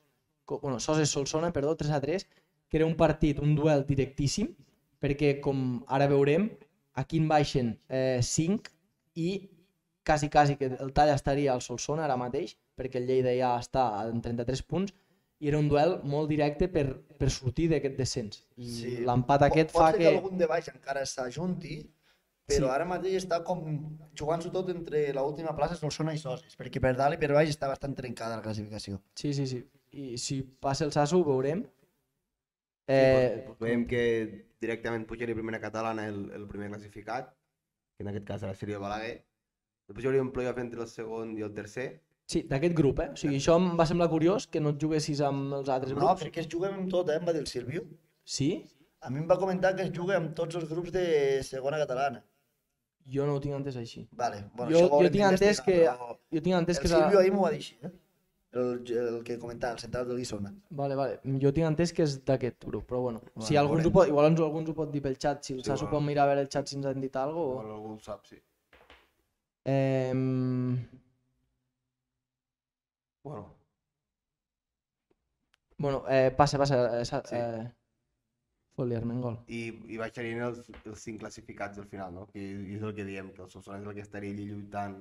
Co- Bueno, Soses Solsona, perdó, tres a tres, que era un partit, un duel directíssim, perquè com ara veurem, aquí en baixen eh, cinc i quasi, quasi que el tall estaria al Solsona ara mateix, perquè el Lleida ja està en trenta-tres punts, i era un duel molt directe per, per sortir d'aquest descens. I Sí. l'empat aquest Pot fa ser que... que algun de baix encara s'ajunti, però Sí. ara mateix està com jugant-s'ho tot entre l'última plaça Solsona i Soses, perquè per dalt i per baix està bastant trencada la classificació. Sí, sí, sí. I si passa el Sasso ho veurem. Eh... Eh, Pues, veiem que directament pujaria a primera catalana el, el primer classificat, que en aquest cas ara seria el Balaguer. Després hi hauria un playoff entre el segon i el tercer. sí, d'aquest grup, eh? O sigui, això em va semblar curiós, que no et juguessis amb els altres No, grups. perquè es juga amb tot, eh, em va dir el Sílvio. Sí? A mi em va comentar que es juga amb tots els grups de segona catalana. Jo no ho tinc entès així. Vale, bueno, Jo- això ho jo haurem tinc entès d'investigar, que- però Jo tinc entès que... El és a- Sílvio ahir m'ho va dir així, eh? El, el que comentava, el central del Guissona. Vale, vale. Jo tinc entès que és d'aquest grup, però bueno. Bueno, Si alguns veurem. ho pot, igual ens, alguns ho pot dir pel xat, si el Sí, Sasso bueno. pot mirar a veure el xat si ens han dit alguna cosa. O algú ho sap, sí. Eh, Bueno, bueno, eh, passa, passa. Eh, sa- Sí. eh, Fot-li Armengol. i, i baixarien els, els cinc classificats al final, no? Que és el que diem, que el Solsona és el que estaria allí lluitant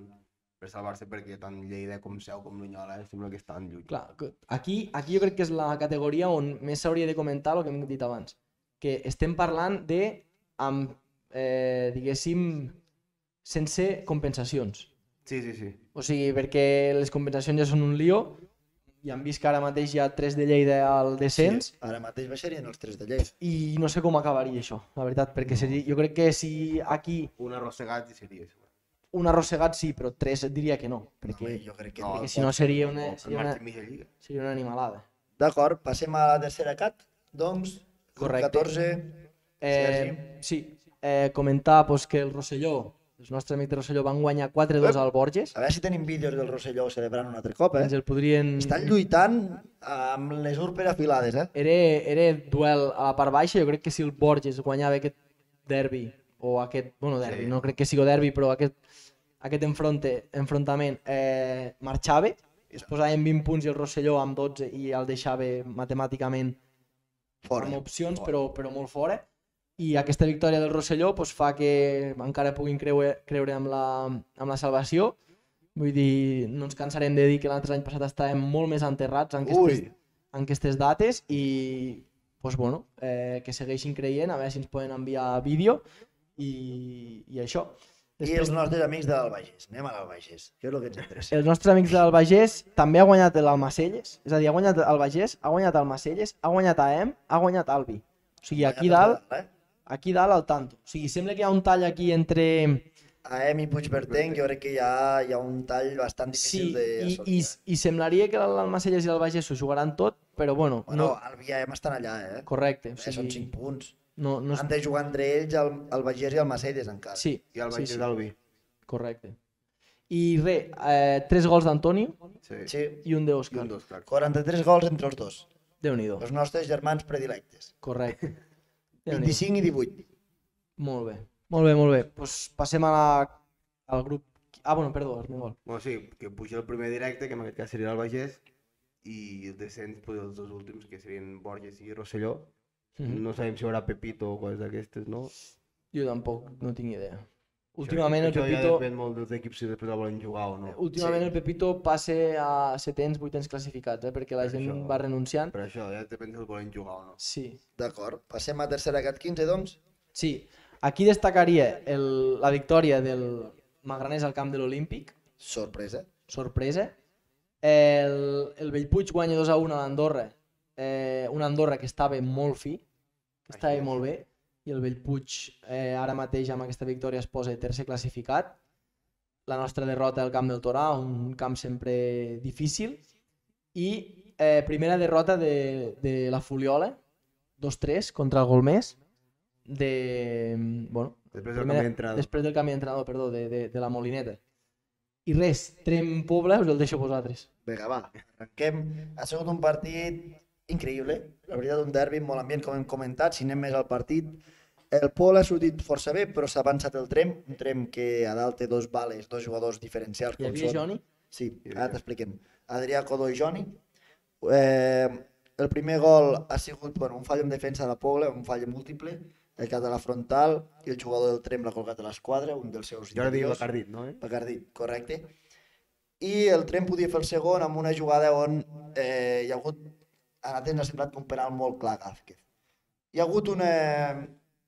per salvar-se, perquè tant Lleida com Seu com Linyola eh, sembla que estan lluitant. Clar, que aquí, aquí jo crec que és la categoria on més s'hauria de comentar el que hem dit abans. Que estem parlant de amb, eh, diguéssim, sense compensacions. Sí, sí, sí. O sigui, perquè les compensacions ja són un lío, i hem vist que ara mateix hi ha tres de Lleida al descens, Sí, ara mateix baixarien els tres de Lleida. i no sé com acabaria això, la veritat, perquè seria, jo crec que si aquí Un arrossegat i seria això. un arrossegat sí, però tres et diria que no, perquè, Home, jo crec que No, no. perquè si no seria una, En seria una, marxa mitja lliga. seria una animalada. D'acord, passem a la tercera cat, doncs. grup Correcte. catorze. Eh, sí, eh, comentar pues, que el Rosselló, els nostres amics de Rosselló van guanyar quatre dos al Borges, A veure si tenim vídeos del Rosselló celebrant un altre cop, eh? ens el podrien... Estan lluitant amb les urpes afilades, eh? Era, era duel a la part baixa, jo crec que si el Borges guanyava aquest derbi, o aquest, bueno, derbi, Sí. no crec que sigui derbi, però aquest, aquest enfronte, enfrontament eh, marxava, es posava en vint punts i el Rosselló amb dotze i el deixava matemàticament Fora. amb opcions, però, però molt fora. I aquesta victòria del Rosselló pues, fa que encara puguin creure, creure amb, la, amb la salvació. Vull dir, no ens cansarem de dir que l'altre any passat estàvem molt més enterrats en aquestes, Ui. en aquestes dates i pues, bueno, eh, que segueixin creient, a veure si ens poden enviar vídeo i, i això. I els nostres amics de l'Albagés. Anem a l'Albagés, que és el que ens interessa. Els nostres amics del Bagés també ha guanyat l'Almacelles, és a dir, ha guanyat el Bagés, ha guanyat el Macelles, ha guanyat A E M, ha guanyat Albi. O sigui, aquí dalt, Eh? aquí dalt al tanto. O sigui, sembla que hi ha un tall aquí entre... A Emi Puigbertenc, jo crec que hi ha, hi ha un tall bastant Sí, difícil i, i, d'assolir. i semblaria que l'Almacelles i el Bagés s'ho jugaran tot, però bueno, Bueno, no, Albi i A Emi estan allà, eh? correcte. O Eh, Són sigui, cinc punts. no, no, Han de jugar entre ells el, el Bagés i el Macelles encara. sí, I el sí, Baix sí, d'Albi. correcte. I res, eh, tres gols d'Antoni Sí. Sí. i un I d'Òscar. un dos, clar. quaranta-tres gols entre els dos. Déu-n'hi-do, Els nostres germans predilectes. correcte. Déu-n'hi-do. vint-i-cinc i divuit. Molt bé, molt bé, molt bé. Pues passem a la, al grup... Ah, bueno, perdó, Armengol. Bueno, sí, que puja el primer directe, que en aquest cas seria el Bagés, i el descens, pues, els dos últims, que serien Borges i Rosselló. Mhm. No sabem si hi haurà Pepito o coses d'aquestes, no? Jo tampoc no tinc idea. Últimament el Això ja Pepito, depèn molt dels equips si després el volen jugar o no. últimament Sí. el Pepito passa a setens, vuitens classificats, eh, perquè la Per gent això. va renunciant. Per això, ja depèn si el volen jugar o no. Sí, D'acord. Passem a tercera cat quinze, doncs. sí. Aquí destacaria el, la victòria del Magranès al camp de l'Olímpic, Sorpresa. sorpresa. El, el Bellpuig guanya dos a un a l'Andorra, eh, una Andorra que estava molt fi, que estava Així és. molt bé, i el Bellpuig eh, ara mateix amb aquesta victòria es posa tercer classificat. La nostra derrota al camp del Torà, un camp sempre difícil, i eh, primera derrota de, de la Fuliola, dos tres contra el Golmés, de, bueno, Després del primera- canvi d'entrenador. després del canvi d'entrenador, perdó, de, de, de la Molineta. I res, Trem Pobla us el deixo a vosaltres. Vinga, va. Arrenquem. Ha sigut un partit increïble. La veritat, un derbi amb molt ambient, com hem comentat. Si anem més al partit, el Pol ha sortit força bé, però s'ha avançat el Trem. Un Trem que a dalt té dos bales, dos jugadors diferencials. Hi com havia són- Joni? Sí, Hi ara havia. t'expliquem. Adrià Codó i Joni. Eh, el primer gol ha sigut bueno, un fall en defensa de Pobla, un fall múltiple, el cap de la frontal, i el jugador del Trem l'ha colgat a l'esquadra, un dels seus Jordi interiors. Bacardit, no? Eh? Bacardí, correcte. I el Trem podia fer el segon amb una jugada on eh, hi ha hagut, a l'Atenes ha semblat un penal molt clar a Gázquez. Hi ha hagut una...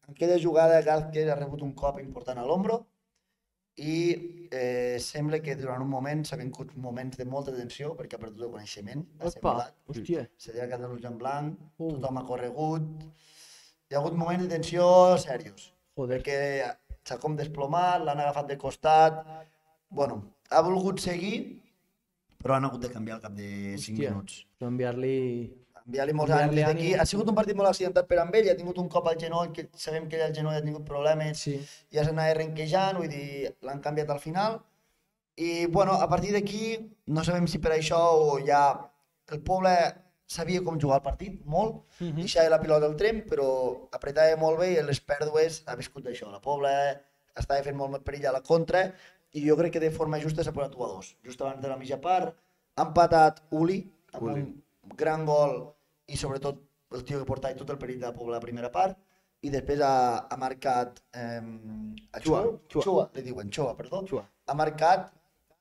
En aquella jugada Gázquez ha rebut un cop important a l'ombro i eh, sembla que durant un moment s'ha vingut moments de molta tensió perquè ha perdut el coneixement. Ha Opa, semblat, hòstia. se li ha quedat l'ull en blanc, Uh. tothom ha corregut. Hi ha hagut moments de tensió serios Joder. perquè s'ha com desplomat, l'han agafat de costat, bueno, ha volgut seguir, però han hagut de canviar al cap de cinc Hòstia. minuts. Enviar-li... Enviar-li molts Enviar-li ànims d'aquí. ànims. Ha sigut un partit molt accidentat per amb ell, ha tingut un cop al genoll, que sabem que ell al genoll ha tingut problemes, Sí. ja s'anava renquejant, vull dir, l'han canviat al final. I, bueno, a partir d'aquí, no sabem si per això o ja el poble sabia com jugar el partit, molt, Mhm. deixava la pilota al Trem, però apretava molt bé i en les pèrdues ha viscut d'això. La Pobla estava fent molt més perill a la contra i jo crec que de forma justa s'ha posat u a dos. Just abans de la mitja part ha empatat Uli amb Uli. un gran gol i sobretot el tio que portava tot el perill de la Pobla a la primera part i després ha, ha marcat eh, a Xua, Xua, Xua. Xua, li diuen Xua, perdó, Xua. ha marcat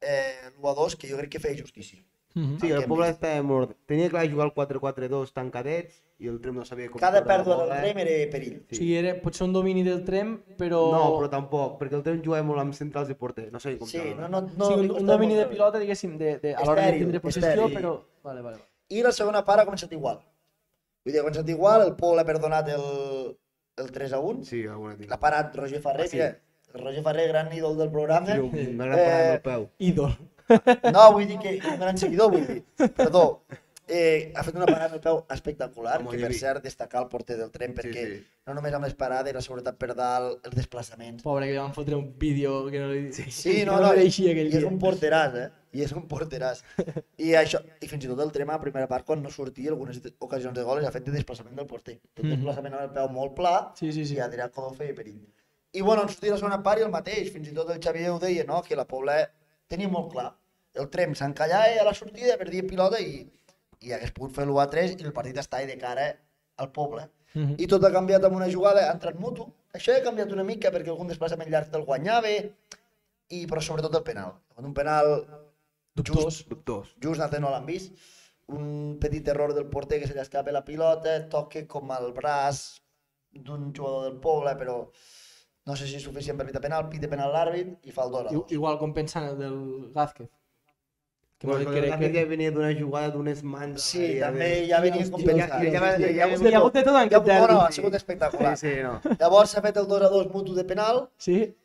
eh, l'u a dos que jo crec que feia justícia. Mhm. Sí, El que el hem poble vist. estava molt... Tenia clar jugar el quatre quatre dos tancadets i el Trem no sabia com... Cada treure la pèrdua del bola. Trem era perill. O sigui, era potser un domini del Trem, però... No, però tampoc, perquè el Trem jugava molt amb centrals i porter, no sabia com Sí, treure-la. no, no, no, sí, li un, un costava domini molt de treure. pilota, diguéssim, de, de, a l'hora de Estèril, tindre possessió, estèril. però... Vale, vale. vale. I la segona part ha començat igual. Vull dir, ha començat igual, el Pou l'ha perdonat el, el tres a un. Sí, alguna tinc. L'ha parat Roger Ferrer, Ah, sí? mira, el Roger Ferrer, gran ídol del programa. Sí, una gran parada amb el peu. Ídol. No, vull dir que un gran seguidor, vull dir. Perdó. Eh, ha fet una parada amb el peu espectacular, Amb que el per Llevi. cert destacar el porter del Trem, perquè sí. no només amb les parades, la seguretat per dalt, els desplaçaments. Pobre, que li van fotre un vídeo que no li... Sí, Sí, que no, no, no, i, mereixia aquell i és dia. un porteràs, eh? I és un porteràs. I això, i fins i tot el Trem a la primera part, quan no sortia, algunes ocasions de goles, ha fet de desplaçament del porter. Tot Mhm. desplaçament amb el peu molt pla, Sí, sí, sí. i Adrià Codó feia perill. I bueno, en sortir la segona part i el mateix, fins i tot el Xavier ho deia, no? Que la Pobla tenia molt clar. El Trem s'encallava a la sortida, perdia pilota i, i hagués pogut fer l'u a tres i el partit estava de cara al Poble. Mhm. I tot ha canviat amb una jugada, ha entrat mutu. Això ha canviat una mica perquè algun desplaçament llarg te'l guanyava, i, però sobretot el penal. Un penal Dubtós. just, Dubtós. just nosaltres no l'han vist. Un petit error del porter que se li escapa la pilota, toque com al braç d'un jugador del Poble, però no sé si és suficient per pitar penal, pita penal l'àrbit i fa el dos a I- dos. Igual com pensant el del Gázquez. Que Bueno, no, que, crec que, que... ja venia d'una jugada d'unes mans... Sí, ja també ves. ja venia Hòstia, compensat. ja- ja va- Sí, sí, ja ha va- hagut Hi ha hagut de tot en Ja, aquest bueno, ha derbi. sigut espectacular. Sí, sí, no. Llavors s'ha fet el dos a dos mutu de penal Sí?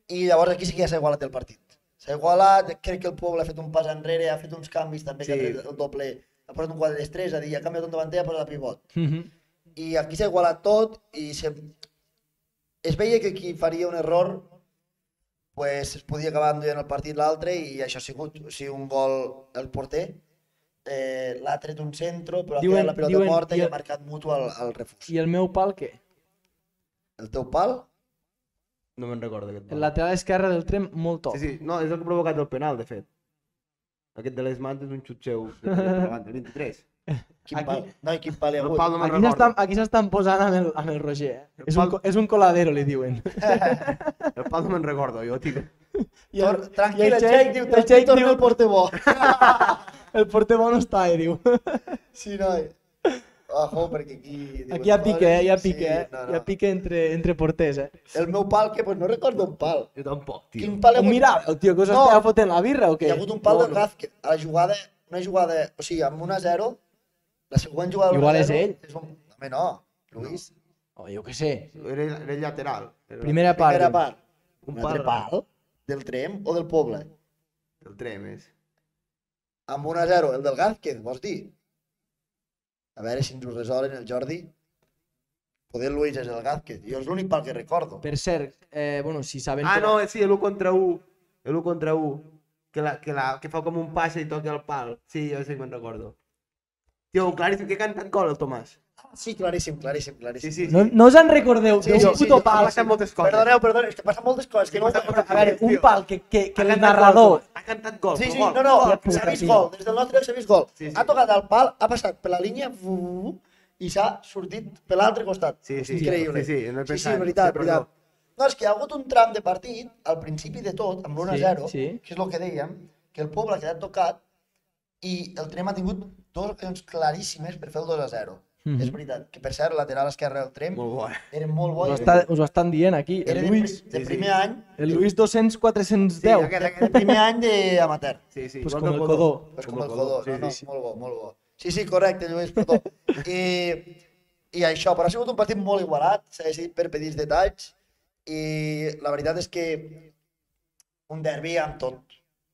i llavors aquí sí que ja s'ha igualat el partit. S'ha igualat, crec que el Poble ha fet un pas enrere, ha fet uns canvis també, que Sí. ha tret el doble, ha posat un quatre tres tres, és a dir, ha canviat un davanter i ha posat a pivot. Mhm. I aquí s'ha igualat tot i se... es veia que qui faria un error pues, es podia acabar enduent el partit l'altre i això ha sigut, o sigui, un gol el porter, eh, l'ha tret un centro, però ha Diuen- quedat la pilota diuen- morta i, i el- ha marcat mutu al, al refús. I el meu pal, què? El teu pal? No me'n recordo aquest El pal. lateral esquerre del Trem, molt top. Sí, sí, no, és el que ha provocat el penal, de fet. Aquest de les mans és un xut seu de per davant, del vint-i-tres. Quin Aquí- pal? No, i quin pal hi ha El hagut? pal no me'n Aquí recordo. s'estan aquí s'estan posant amb el, amb el Roger. Eh? El És, un, pal- co- és un coladero, li diuen. El pal no me'n recordo, jo, tio. I Tor- Tranquil, i el Jake diu, el tranquil, Jake torna diu, el porter bo. el porter bo no està, eh, diu. Sí, noi. Ojo, perquè aquí... diuen Aquí hi ha pique, eh? Hi ha coses. pique, eh? no, Hi ha no. pique entre, entre porters, eh? El meu pal, que pues, no recordo un pal. Jo tampoc, tio. Quin pal hi ha On hagut? mirava el tio que us No. estava fotent la birra o què? Hi ha hagut un pal No, del no. Gázquez. A la jugada, una jugada, o sigui, amb un a zero, la següent jugada d'un Igual a és zero ell. És un... Home, no, Luis. Oh, jo què sé. Era, era lateral. Era Primera part. Primera part. Un Un pal altre pal del Trem o del Poble. El Trem és. Amb un a zero, el del Gázquez, vols dir? A veure si ens ho resolen el Jordi. Poder el Luis és el Gázquez. Jo és l'únic pal que recordo. Per cert, eh, bueno, si saben... Ah, que- no, sí, l'u contra u. L'u contra u. Que, la, que, la, que fa com un passe i toca el pal. Sí, jo sí que me'n recordo. Tio, claríssim, que ha cantat gol el Tomàs. Sí, claríssim, claríssim, claríssim. Sí, sí, sí. No, no us en recordeu Sí, d'un sí, sí, puto sí, pal? Han passat moltes coses. Perdoneu, perdoneu, és que passen moltes coses. Que no... Sí, passa- A veure, un Tio. pal que, que, que Ha el cantat narrador... gol, Ha cantat gol, Sí, però sí, gol. no, no, Hòstia puta, s'ha vist tio. gol, des del nostre s'ha vist gol. Sí, sí. Ha tocat el pal, ha passat per la línia fu- i s'ha sortit per l'altre costat. Sí, sí, Increïble. sí, sí, no he sí, sí, pensat. veritat, Sí, perdó. veritat. No, és que hi ha hagut un tram de partit, al principi de tot, amb l'u a zero, Sí, sí. que és el que dèiem, que el Poble ha quedat tocat i el Trem ha tingut dues ocasions claríssimes per fer el dos a zero. Mhm. És veritat, que per cert, lateral esquerre del Trem Molt bo, eh? era molt bo. Us, i ho està, us ho estan dient aquí. Era El de, Luis, pri- de Sí, sí. primer any, el Luis dos-cents quatre-cents Sí, deu. aquest, de aquest. primer any d'amateur. Sí, sí. Pues igual com que el Codó. Pues Com com el el Codó, sí, no, no, sí, sí. molt bo, molt bo. Sí, sí, correcte, Lluís, perdó. I, I això, però ha sigut un partit molt igualat, s'ha decidit per petits detalls, i la veritat és que un derbi amb tot,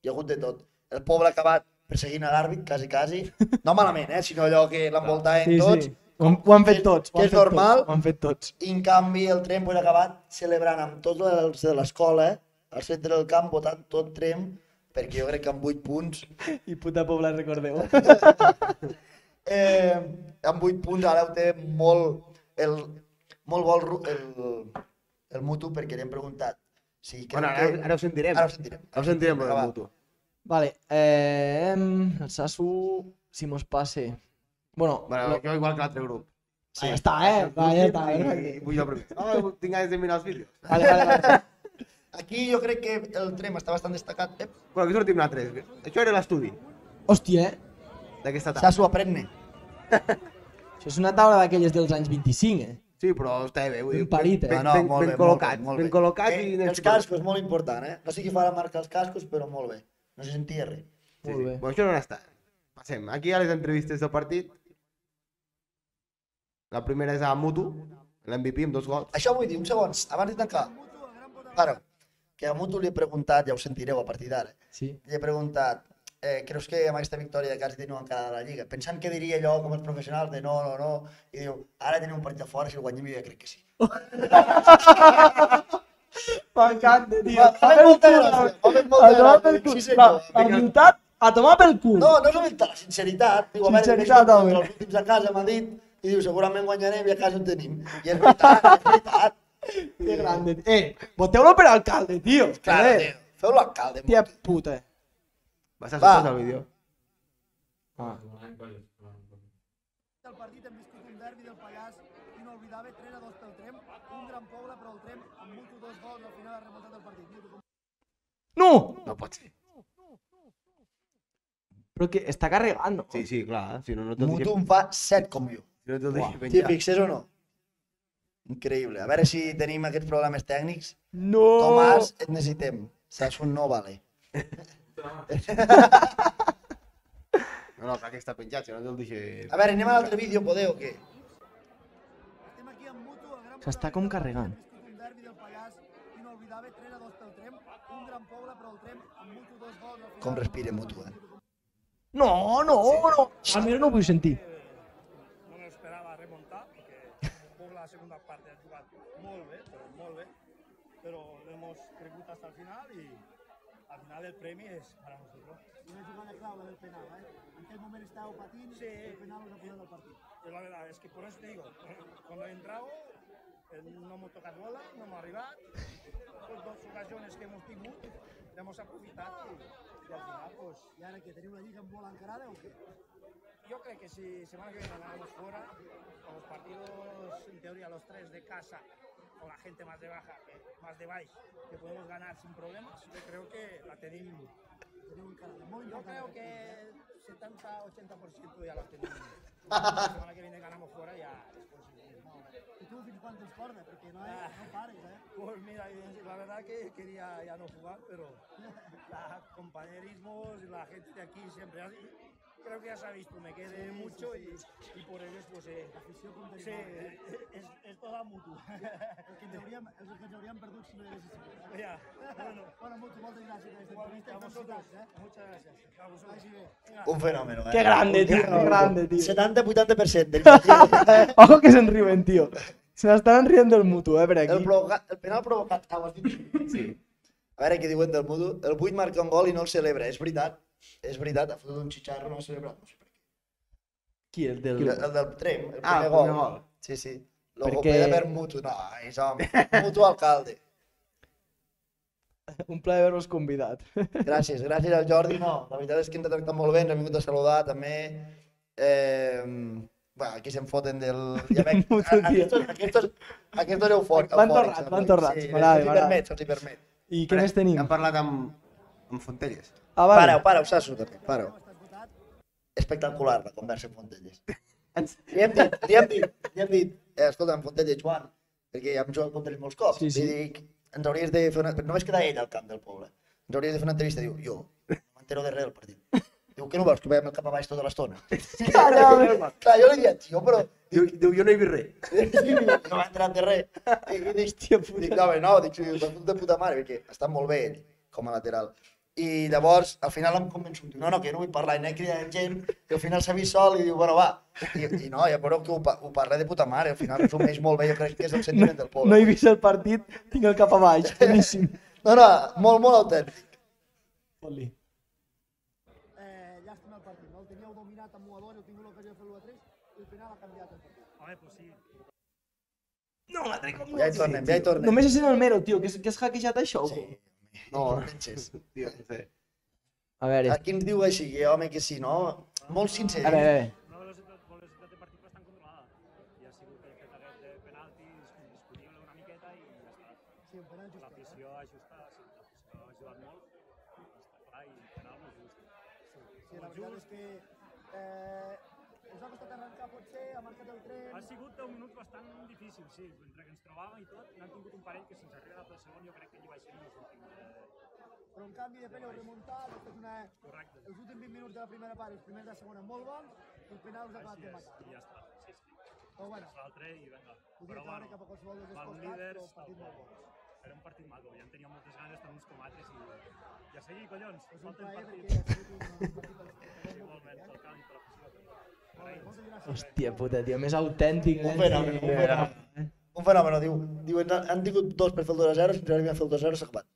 hi ha hagut de tot. El Poble ha acabat perseguint a l'àrbit, quasi, quasi, no malament, eh, sinó allò que l'envoltaven Sí, tots, sí. Ho, han- ho han fet tots. ho que han és fet normal. Tots, ho han fet tots. i en canvi el Trem pues, ha acabat celebrant amb tots els de l'escola, eh, al centre del camp, votant tot Trem, perquè jo crec que amb vuit punts I puta pobla, recordeu. eh, amb vuit punts ara ho té molt, el, molt bo el, ru- el, el mutu perquè li hem preguntat. Si creu Bueno, ara, que... ara ho sentirem. Ara ho sentirem. Ara ho sentirem, Vinga, el va. mutu. Vale, eh, el Sasu, si mos passe... Bueno, Bueno, lo- jo igual que l'altre grup. ah, ja està, eh? Va, ja està. I, perfecte. i vull jo preguntar. Oh, tinc ganes de mirar els vídeos. Vale, vale, vale. Aquí jo crec que el Trem està bastant destacat. Eh? Bueno, aquí sortim nosaltres. Això era l'estudi. Hòstia, eh? D'aquesta Ja taula. s'ho aprenne. Això és una taula d'aquelles dels anys vint-i-cinc, eh? Sí, però està bé, vull dir, Ben parit, eh? ben, No, no, ben, molt ben bé, col·locats, molt bé, ben col·locats eh, i... els cascos, molt important, eh? No sé qui fa la marca els cascos, però molt bé. No se sentia res. Sí, Molt sí. bé. Bueno, això no està. Passem. Aquí a les entrevistes del partit. La primera és a Mutu, l'M V P amb dos gols. Això vull dir, un segon, abans de tancar. Para, que a Mutu li he preguntat, ja ho sentireu a partir d'ara, Sí. li he preguntat, eh, creus que amb aquesta victòria quasi teniu encara de la Lliga? Pensant que diria allò com els professionals de no, no, no, i diu, ara tenim un partit a fora, si el guanyem jo ja crec que sí. M'encanta, tio. M'ha fet molta gràcia, m'ha fet molta A tomar gràcia, pel dic, cul. sí senyor. La humilitat, a tomar pel cul. No, no és humilitat, la sinceritat. Diu, a veure, Sinceritat, més home. els últims a casa m'ha dit, i diu, segurament guanyarem i a casa ho tenim. I és veritat, és veritat. Que grande. Eh, voteu-lo per alcalde, tio. Clar, Eh, tio, feu l'alcalde. Tia puta. Vas a Va. sortir el vídeo. Ah. El partit hem viscut un derbi del Pallars inolvidable, tres a dos pel Trem, un gran poble, però el Trem amb Mutu dos gols al final ha remuntat el partit. Mutu, com- No! No pot ser. Però que està carregant, no? Sí, sí, clar. Si no, no te'l Mutu deixem, en fa set com jo. si no te'l deixem T'hi penjar. fixes o no? Increïble. A veure si tenim aquests problemes tècnics. No! Tomàs, et necessitem. Saps un no vale. No, no, clar que està penjat, si no te'l deixem... A veure, anem a l'altre vídeo, podeu o què? Estem aquí amb Mutu, el gran S'està com carregant. Hem viscut un derbi del Pallars inolvidable, tres a dos pel Trem, un gran poble, però el Trem amb Mutu dos gols al final. Com respira Mutu, eh? No, no, no. Almenys no ho vull sentir. No me lo esperaba remontar, porque por la segunda parte ha jugado muy bien, pero muy bien, pero lo hemos reclutado hasta el final y al final el premio es para nosotros. Una jugada clave del penal, ¿eh? En aquel momento estaba patín, sí. El penal nos ha pillado el partido. Y la verdad es que por eso te digo, cuando he entrado, eh, no hemos tocado bola, no hemos arribado, pues dos ocasiones que hemos tenido, le hemos aprovechado y, y al final, pues... ¿Y ahora que tenemos la liga en bola encarada o qué? Yo creo que si semana que viene ganamos fuera, con los partidos, en teoría, los tres de casa, con la gente más de baja, que, más de baix, que podemos ganar sin problemas, yo creo que la tenemos. Yo creo que setenta a ochenta por ciento ya la tenemos. La semana que viene ganamos fuera ya después. ¿Y tú, cuántos corres? Porque no, hay, no pares, ¿eh? Pues mira, la verdad que quería ya no jugar, pero los compañerismos y la gente de aquí siempre así. Creo que ya se ha visto, me quedé mucho y, y por ello pues eh, sí, es, es toda mutua. El que en teoria, els que ens hauríem perdut si no hi hagués sigut. Ja, bueno. Bueno, Mutu, moltes gràcies per aquesta entrevista. Felicitats, eh? Muchas gracias. A vosotros. Vagi bé. Un fenòmeno, eh? Qué grande, tío, qué grande, tío. setanta a vuitanta per cent del partit. Ojo que se'n riuen, tío. Se n'estaran rient del mutu, eh, per El, aquí. provoca... el penal provocat, ah, ho has dit? Sí. A veure què diuen del Mutu. El vuit marca un gol i no el celebra, és veritat. És veritat, ha fotut un xitxarro, no ha celebrat. No sé per què. Qui, el del... El, el del Trem, el primer, Ah, el gol. primer gol. Sí, sí. Logo Perquè- Perquè... per Mutu. No, és home. Mutu alcalde. Un plaer haver-vos convidat. Gràcies, gràcies al Jordi. No, la veritat és que ens ha tractat molt bé, ens ha vingut a saludar també. Eh, bueno, aquí se'n foten del... Ja veig, Mutu, a- tio. aquestos, aquestos, aquestos eufòrics. Van torrats, van torrats. Sí, M'agrada, se'ls hi m'agrada. permet, se'ls hi permet. I què més tenim? Hem parlat amb, amb Fontelles. Ah, vale. Pareu, pareu, Sasso, també, pareu. Espectacular la conversa amb Fontelles. Li hem dit, li hem dit, li hem dit, eh, escolta, amb Fontelles, Joan, perquè ja hem jugat contra ells molts cops, Sí, sí. li dic, ens hauries de fer una... Només queda ell al camp del poble. Ens hauries de fer una entrevista, diu, jo, no m'entero de res del partit. Diu, què no veus, que veiem el cap a baix tota l'estona? Clar, jo li dic, tio, però... Diu, diu jo no he vist res. no m'ha entrat de res. I, i dic, tio, dic, no, home, no, dic, de puta, puta mare, perquè està molt bé ell, com a lateral. I llavors, al final em convenço, diu, no, no, que no vull parlar, i anem cridant gent, i al final s'ha vist sol i diu, bueno, va. I, i no, ja veureu que ho, pa- ho parla de puta mare, al final resumeix molt bé, jo crec que és el sentiment del poble. No he vist el partit, tinc el cap a baix. Boníssim. No, no, molt, molt autèntic. Fot-li. Eh, llàstima el partit, no? El teníeu dominat amb un a dos, heu tingut l'ocasió de fer l'u a tres i al final ha canviat el partit. Home, pues sí. No, l'altre com Ja hi tornem, ja hi tornem. Només és en el mero, tio, que, és- que has hackejat això. Sí, No, penses. tio, no sé. A veure, A qui ens diu així, que home, que sí, no? Molt sincer. a veure, a veure. Una velocitat, velocitat de partit bastant controlada i ha sigut el fet aquest de penaltis, discutible una miqueta i ja està. Sí, un penal just. L'afició ha ajustat, sí, l'afició ha ajudat molt, està clar, i penal molt just. Sí, la veritat és que eh, us ha costat arrencar potser, ha marcat el tren... Ha sigut deu minuts bastant difícil, sí. Entre que ens trobàvem i tot, n'han tingut un parell que sense arribar pel segon jo crec que hi vaig ser els últims. Eh... Però en canvi de pell heu remuntat, heu fet una... Correcte. Els últims vint minuts de la primera part, els primers de la segona molt bons, i el penal us ha acabat de matar. I ja està, sí, sí. Però bueno, l'altre i vinga. podria caure cap a qualsevol dels dos van costats, líders, però partit molt bo. Era un partit maco, ja en teníem moltes ganes, tant uns com altres, i, i a seguir, collons, És un falta un plaer partit. perquè ha sigut un partit de l'espectador. Igualment, pel camp i per l'afició. Moltes gràcies. Hòstia puta, tio, més autèntic. Un fenomen, un fenomen. Un fenomen, diu, diu, han, han tingut dos per fer el dos a zero, si ens arribem a fer el dos a zero s'ha acabat.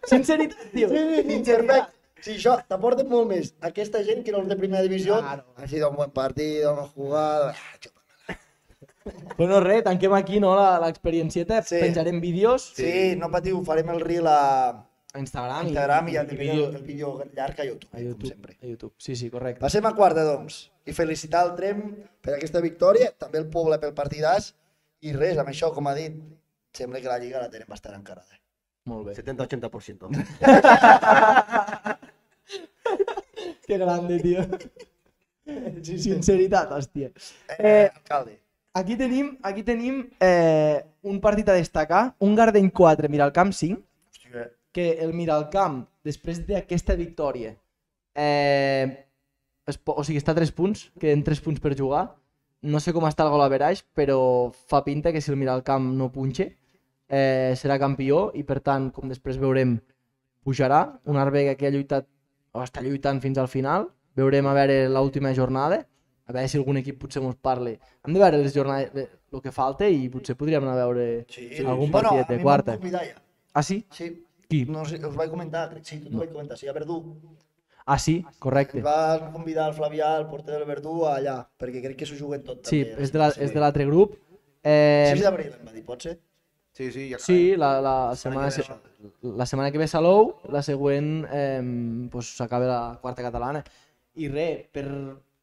Sinceritat, tio. Sí, perfecte. Sí, això t'aporta molt més aquesta gent que no els de primera divisió. Claro. Ha sido un buen partido, hemos jugado... Bueno, res, tanquem aquí, no, la- l'experiencieta, Sí. penjarem vídeos Sí, no patiu, farem el reel a a Instagram, Instagram i, i, el, vídeo, el vídeo llarg a YouTube, a YouTube, com sempre. a YouTube. Sí, sí, correcte. Passem a quarta, doncs, i felicitar el Trem per aquesta victòria, també el poble pel partidàs, i res, amb això, com ha dit, sembla que la Lliga la tenen bastant encarada. Molt bé. setenta a ochenta por ciento. Que grande, tio. Sinceritat, hòstia. Eh, alcalde. Aquí tenim, aquí tenim eh, un partit a destacar, un Gardeny quatre, Miralcamp cinc, Hòstia, que el Miralcamp, després d'aquesta victòria, eh, es po- o sigui, està a tres punts, queden tres punts per jugar. No sé com està el gol average, però fa pinta que si el Miralcamp no punxe, eh, serà campió i per tant, com després veurem, pujarà. Un Arbeca que ha lluitat, o està lluitant fins al final. Veurem a veure l'última jornada, a veure si algun equip potser mos parli. Hem de veure les jornades, el que falta i potser podríem anar a veure sí. algun Bueno, partidet a de mi quarta. m'han convidat ja. Ah, sí? Sí, Qui? no sé, us vaig comentar, crec- sí, tu t'ho vaig comentar, sí, a Verdú. Ah, sí, correcte. Ens va convidar el Flavià, el porter del Verdú, allà, perquè crec que s'ho juguen tot. Sí, també. és de la- és de l'altre grup. Eh, sis d'abril em va dir, pot ser? Sí, sí, ja Sí, la, la, setmana, que se- ve la setmana que ve Salou, la següent eh, pues, s'acaba la quarta catalana. I res, per,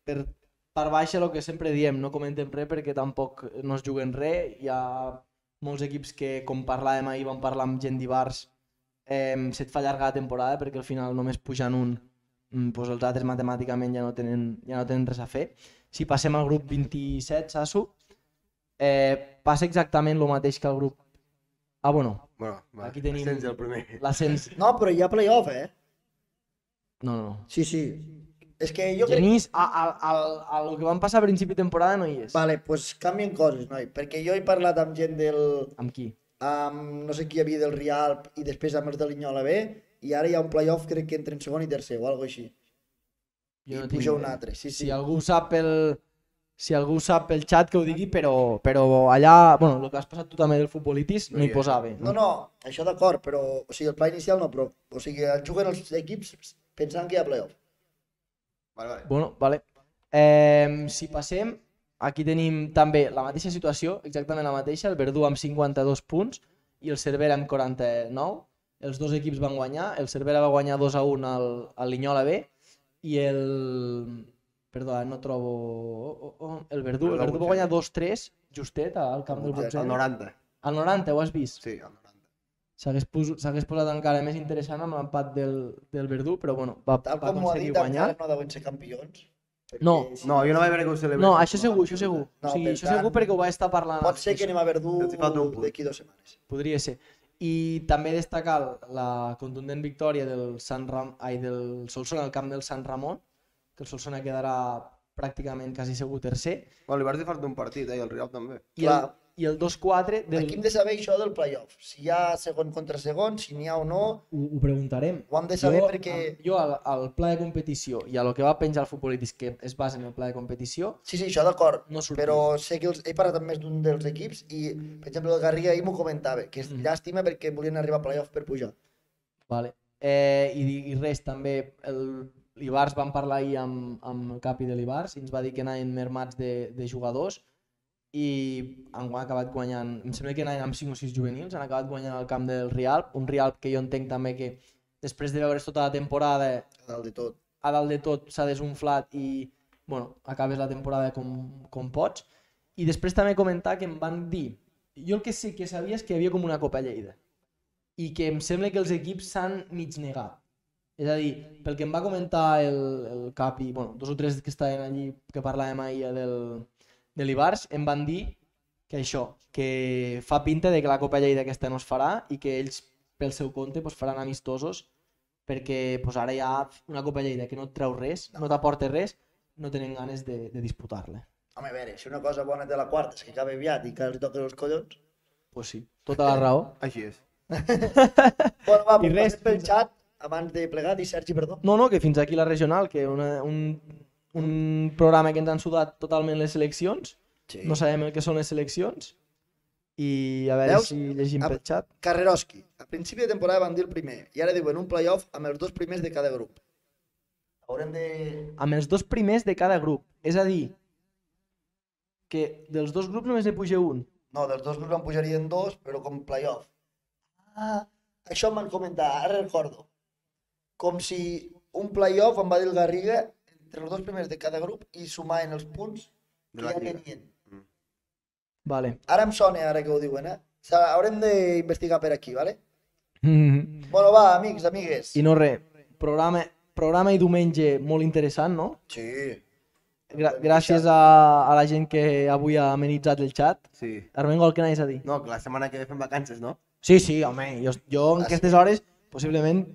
per part baixa el que sempre diem, no comentem res perquè tampoc no es juguen res. Hi ha molts equips que, com parlàvem ahir, vam parlar amb gent d'Ibars, eh, se't fa llarga la temporada perquè al final només pujant un, mm, pues els altres matemàticament ja no tenen, ja no tenen res a fer. Si passem al grup vint-i-set, Sasu, eh, passa exactament el mateix que el grup. Ah, bueno, Bueno, va, Aquí tenim- ascens el primer. l'ascens... No, però hi ha playoff, eh? No, no, no. Sí, sí. És que jo crec... Genís, a, a, a, a lo que van passar a principi de temporada no hi és. Vale, doncs pues canvien coses, noi, perquè jo he parlat amb gent del... Amb qui? amb no sé qui hi havia del Rialp i després amb els de l'Inyola B, i ara hi ha un playoff crec que entre en segon i tercer o alguna així. I tinc puja un idea. altre, sí, sí. Si algú sap pel... Si algú sap pel xat que ho digui, però, però allà, bueno, el que has passat tu també del futbolitis no hi posava. No, no, això d'acord, però, o sigui, el pla inicial no, però, o sigui, juguen els equips pensant que hi ha playoff. Vale, vale. Bueno, vale. Eh, si passem, aquí tenim també la mateixa situació, exactament la mateixa, el Verdú amb cinquanta-dos punts i el Cervera amb quaranta-nou. Els dos equips van guanyar, el Cervera va guanyar dos a un al, al Linyola B i el... Perdó, no trobo... Oh, oh, oh. El Verdú, el Verdú va guanyar dos tres justet al camp del Al Bolsena. noranta. Al noranta, ho has vist? Sí, al noranta. S'hagués pos, s'hagués posat encara més interessant amb l'empat del, del Verdú, però bueno, va, Tal va com ho ha aconseguir dit, guanyar. encara no deuen ser campions. perquè No. si- No, jo no vaig veure que ho celebrés. No, això segur, això segur. No, o sigui, per això tant, segur perquè ho va estar parlant. Pot ser que anem a Verdú Els hi falta un punt. d'aquí dues setmanes. Podria ser. I també destacar la contundent victòria del, Sant Ram... Ai, del Solsona al camp del Sant Ramon, que el Solsona quedarà pràcticament quasi segur tercer. Bueno, li vas dir falta un partit, eh, i el Rial també. I el, Clar. i el dos quatre del... Aquí hem de saber això del playoff. Si hi ha segon contra segon, si n'hi ha o no, Ho, ho preguntarem. ho hem de saber jo, perquè... Jo al, al pla de competició i a lo que va penjar el futbolítis, que es basa en el pla de competició, Sí, sí, això d'acord, no sortia. però sé que els, he parlat amb més d'un dels equips i, per exemple, el Garriga ahir m'ho comentava, que és Mm. llàstima perquè volien arribar a playoff per pujar. Vale. Eh, i, I res, també el- l'Ibars vam parlar ahir amb, amb el capi de l'Ibars i ens va dir que anaven mermats de, de jugadors i han acabat guanyant, em sembla que anaven amb cinc o sis juvenils, han acabat guanyant al camp del Rialp, un Rialp que jo entenc també que després de veure's tota la temporada A dalt de tot. a dalt de tot s'ha desunflat i bueno, acabes la temporada com, com pots. I després també comentar que em van dir, jo el que sí que sabia és que hi havia com una Copa Lleida i que em sembla que els equips s'han mig negat. És a dir, pel que em va comentar el, el capi, bueno, dos o tres que estaven allí, que parlàvem ahir del, de l'Ibars, em van dir que això, que fa pinta de que la Copa Lleida aquesta no es farà i que ells, pel seu compte, pues, faran amistosos, perquè pues, ara hi ha una Copa Lleida que no et treu res, no, no t'aporta res, no tenen ganes de, de disputar-la. Home, a veure, si una cosa bona té la quarta és que acaba aviat i que els toquen els collons. Pues sí, tota la raó. Així és. Bueno, va, I pues res, passem pel xat abans de plegar, i Sergi, perdó. No, no, que fins aquí la regional, que una, un, un programa que ens han sudat totalment les seleccions, Sí. no sabem el que són les seleccions, i a veure Veus? si llegim Ah, pel xat. Carreroski, a principi de temporada van dir el primer, i ara diuen un playoff amb els dos primers de cada grup. Haurem de... Amb els dos primers de cada grup, és a dir, que dels dos grups només ne puja un. No, dels dos grups en pujarien dos, però com playoff. Ah, això em van comentar, ara recordo. Com si un playoff, em va dir el Garriga, entre els dos primers de cada grup i sumaven els punts De que la ja lliga. tenien. Vale. Ara em sona, ara que ho diuen, eh? S'ha- Haurem d'investigar per aquí, vale? I Bueno, va, amics, amigues. no res, programa, programa i diumenge molt interessant, no? Sí. Gra gràcies a, a la gent que avui ha amenitzat el xat. Sí. Armengol, què anaves a dir? No, que la setmana que ve fem vacances, no? Sí, sí, home, jo, jo en Ah, aquestes hores possiblement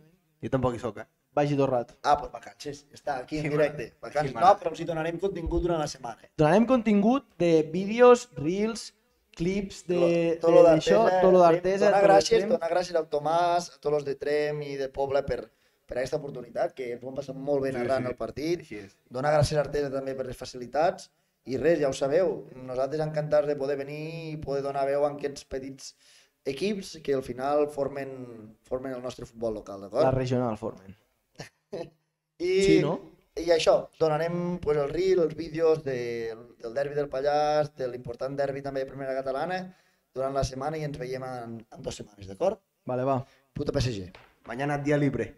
Jo tampoc hi soc, eh? vagi tot rato. Ah, doncs vacances, està aquí en Sí, directe. mana. Vacances Sí, no, mana. però si donarem contingut durant la setmana. Donarem contingut de vídeos, reels, clips de tot lo d'això, d'Artesa, tot lo d'Artesa, donar tot lo gràcies, Trem. donar gràcies al Tomàs, a tots els de Trem i de Pobla per, per aquesta oportunitat, que ens ho hem passat molt bé Sí, narrant sí. el partit. Així és. Donar gràcies a Artesa també per les facilitats. I res, ja ho sabeu, nosaltres encantats de poder venir i poder donar veu a aquests petits equips que al final formen, formen el nostre futbol local, La d'acord? regional formen. I, Sí, no? I això, donarem pues, el reel, els vídeos de, del derbi del Pallars, de l'important derbi també de primera catalana, durant la setmana i ens veiem en, en dues setmanes, d'acord? Vale, va. Puta P S G. Mañana día libre.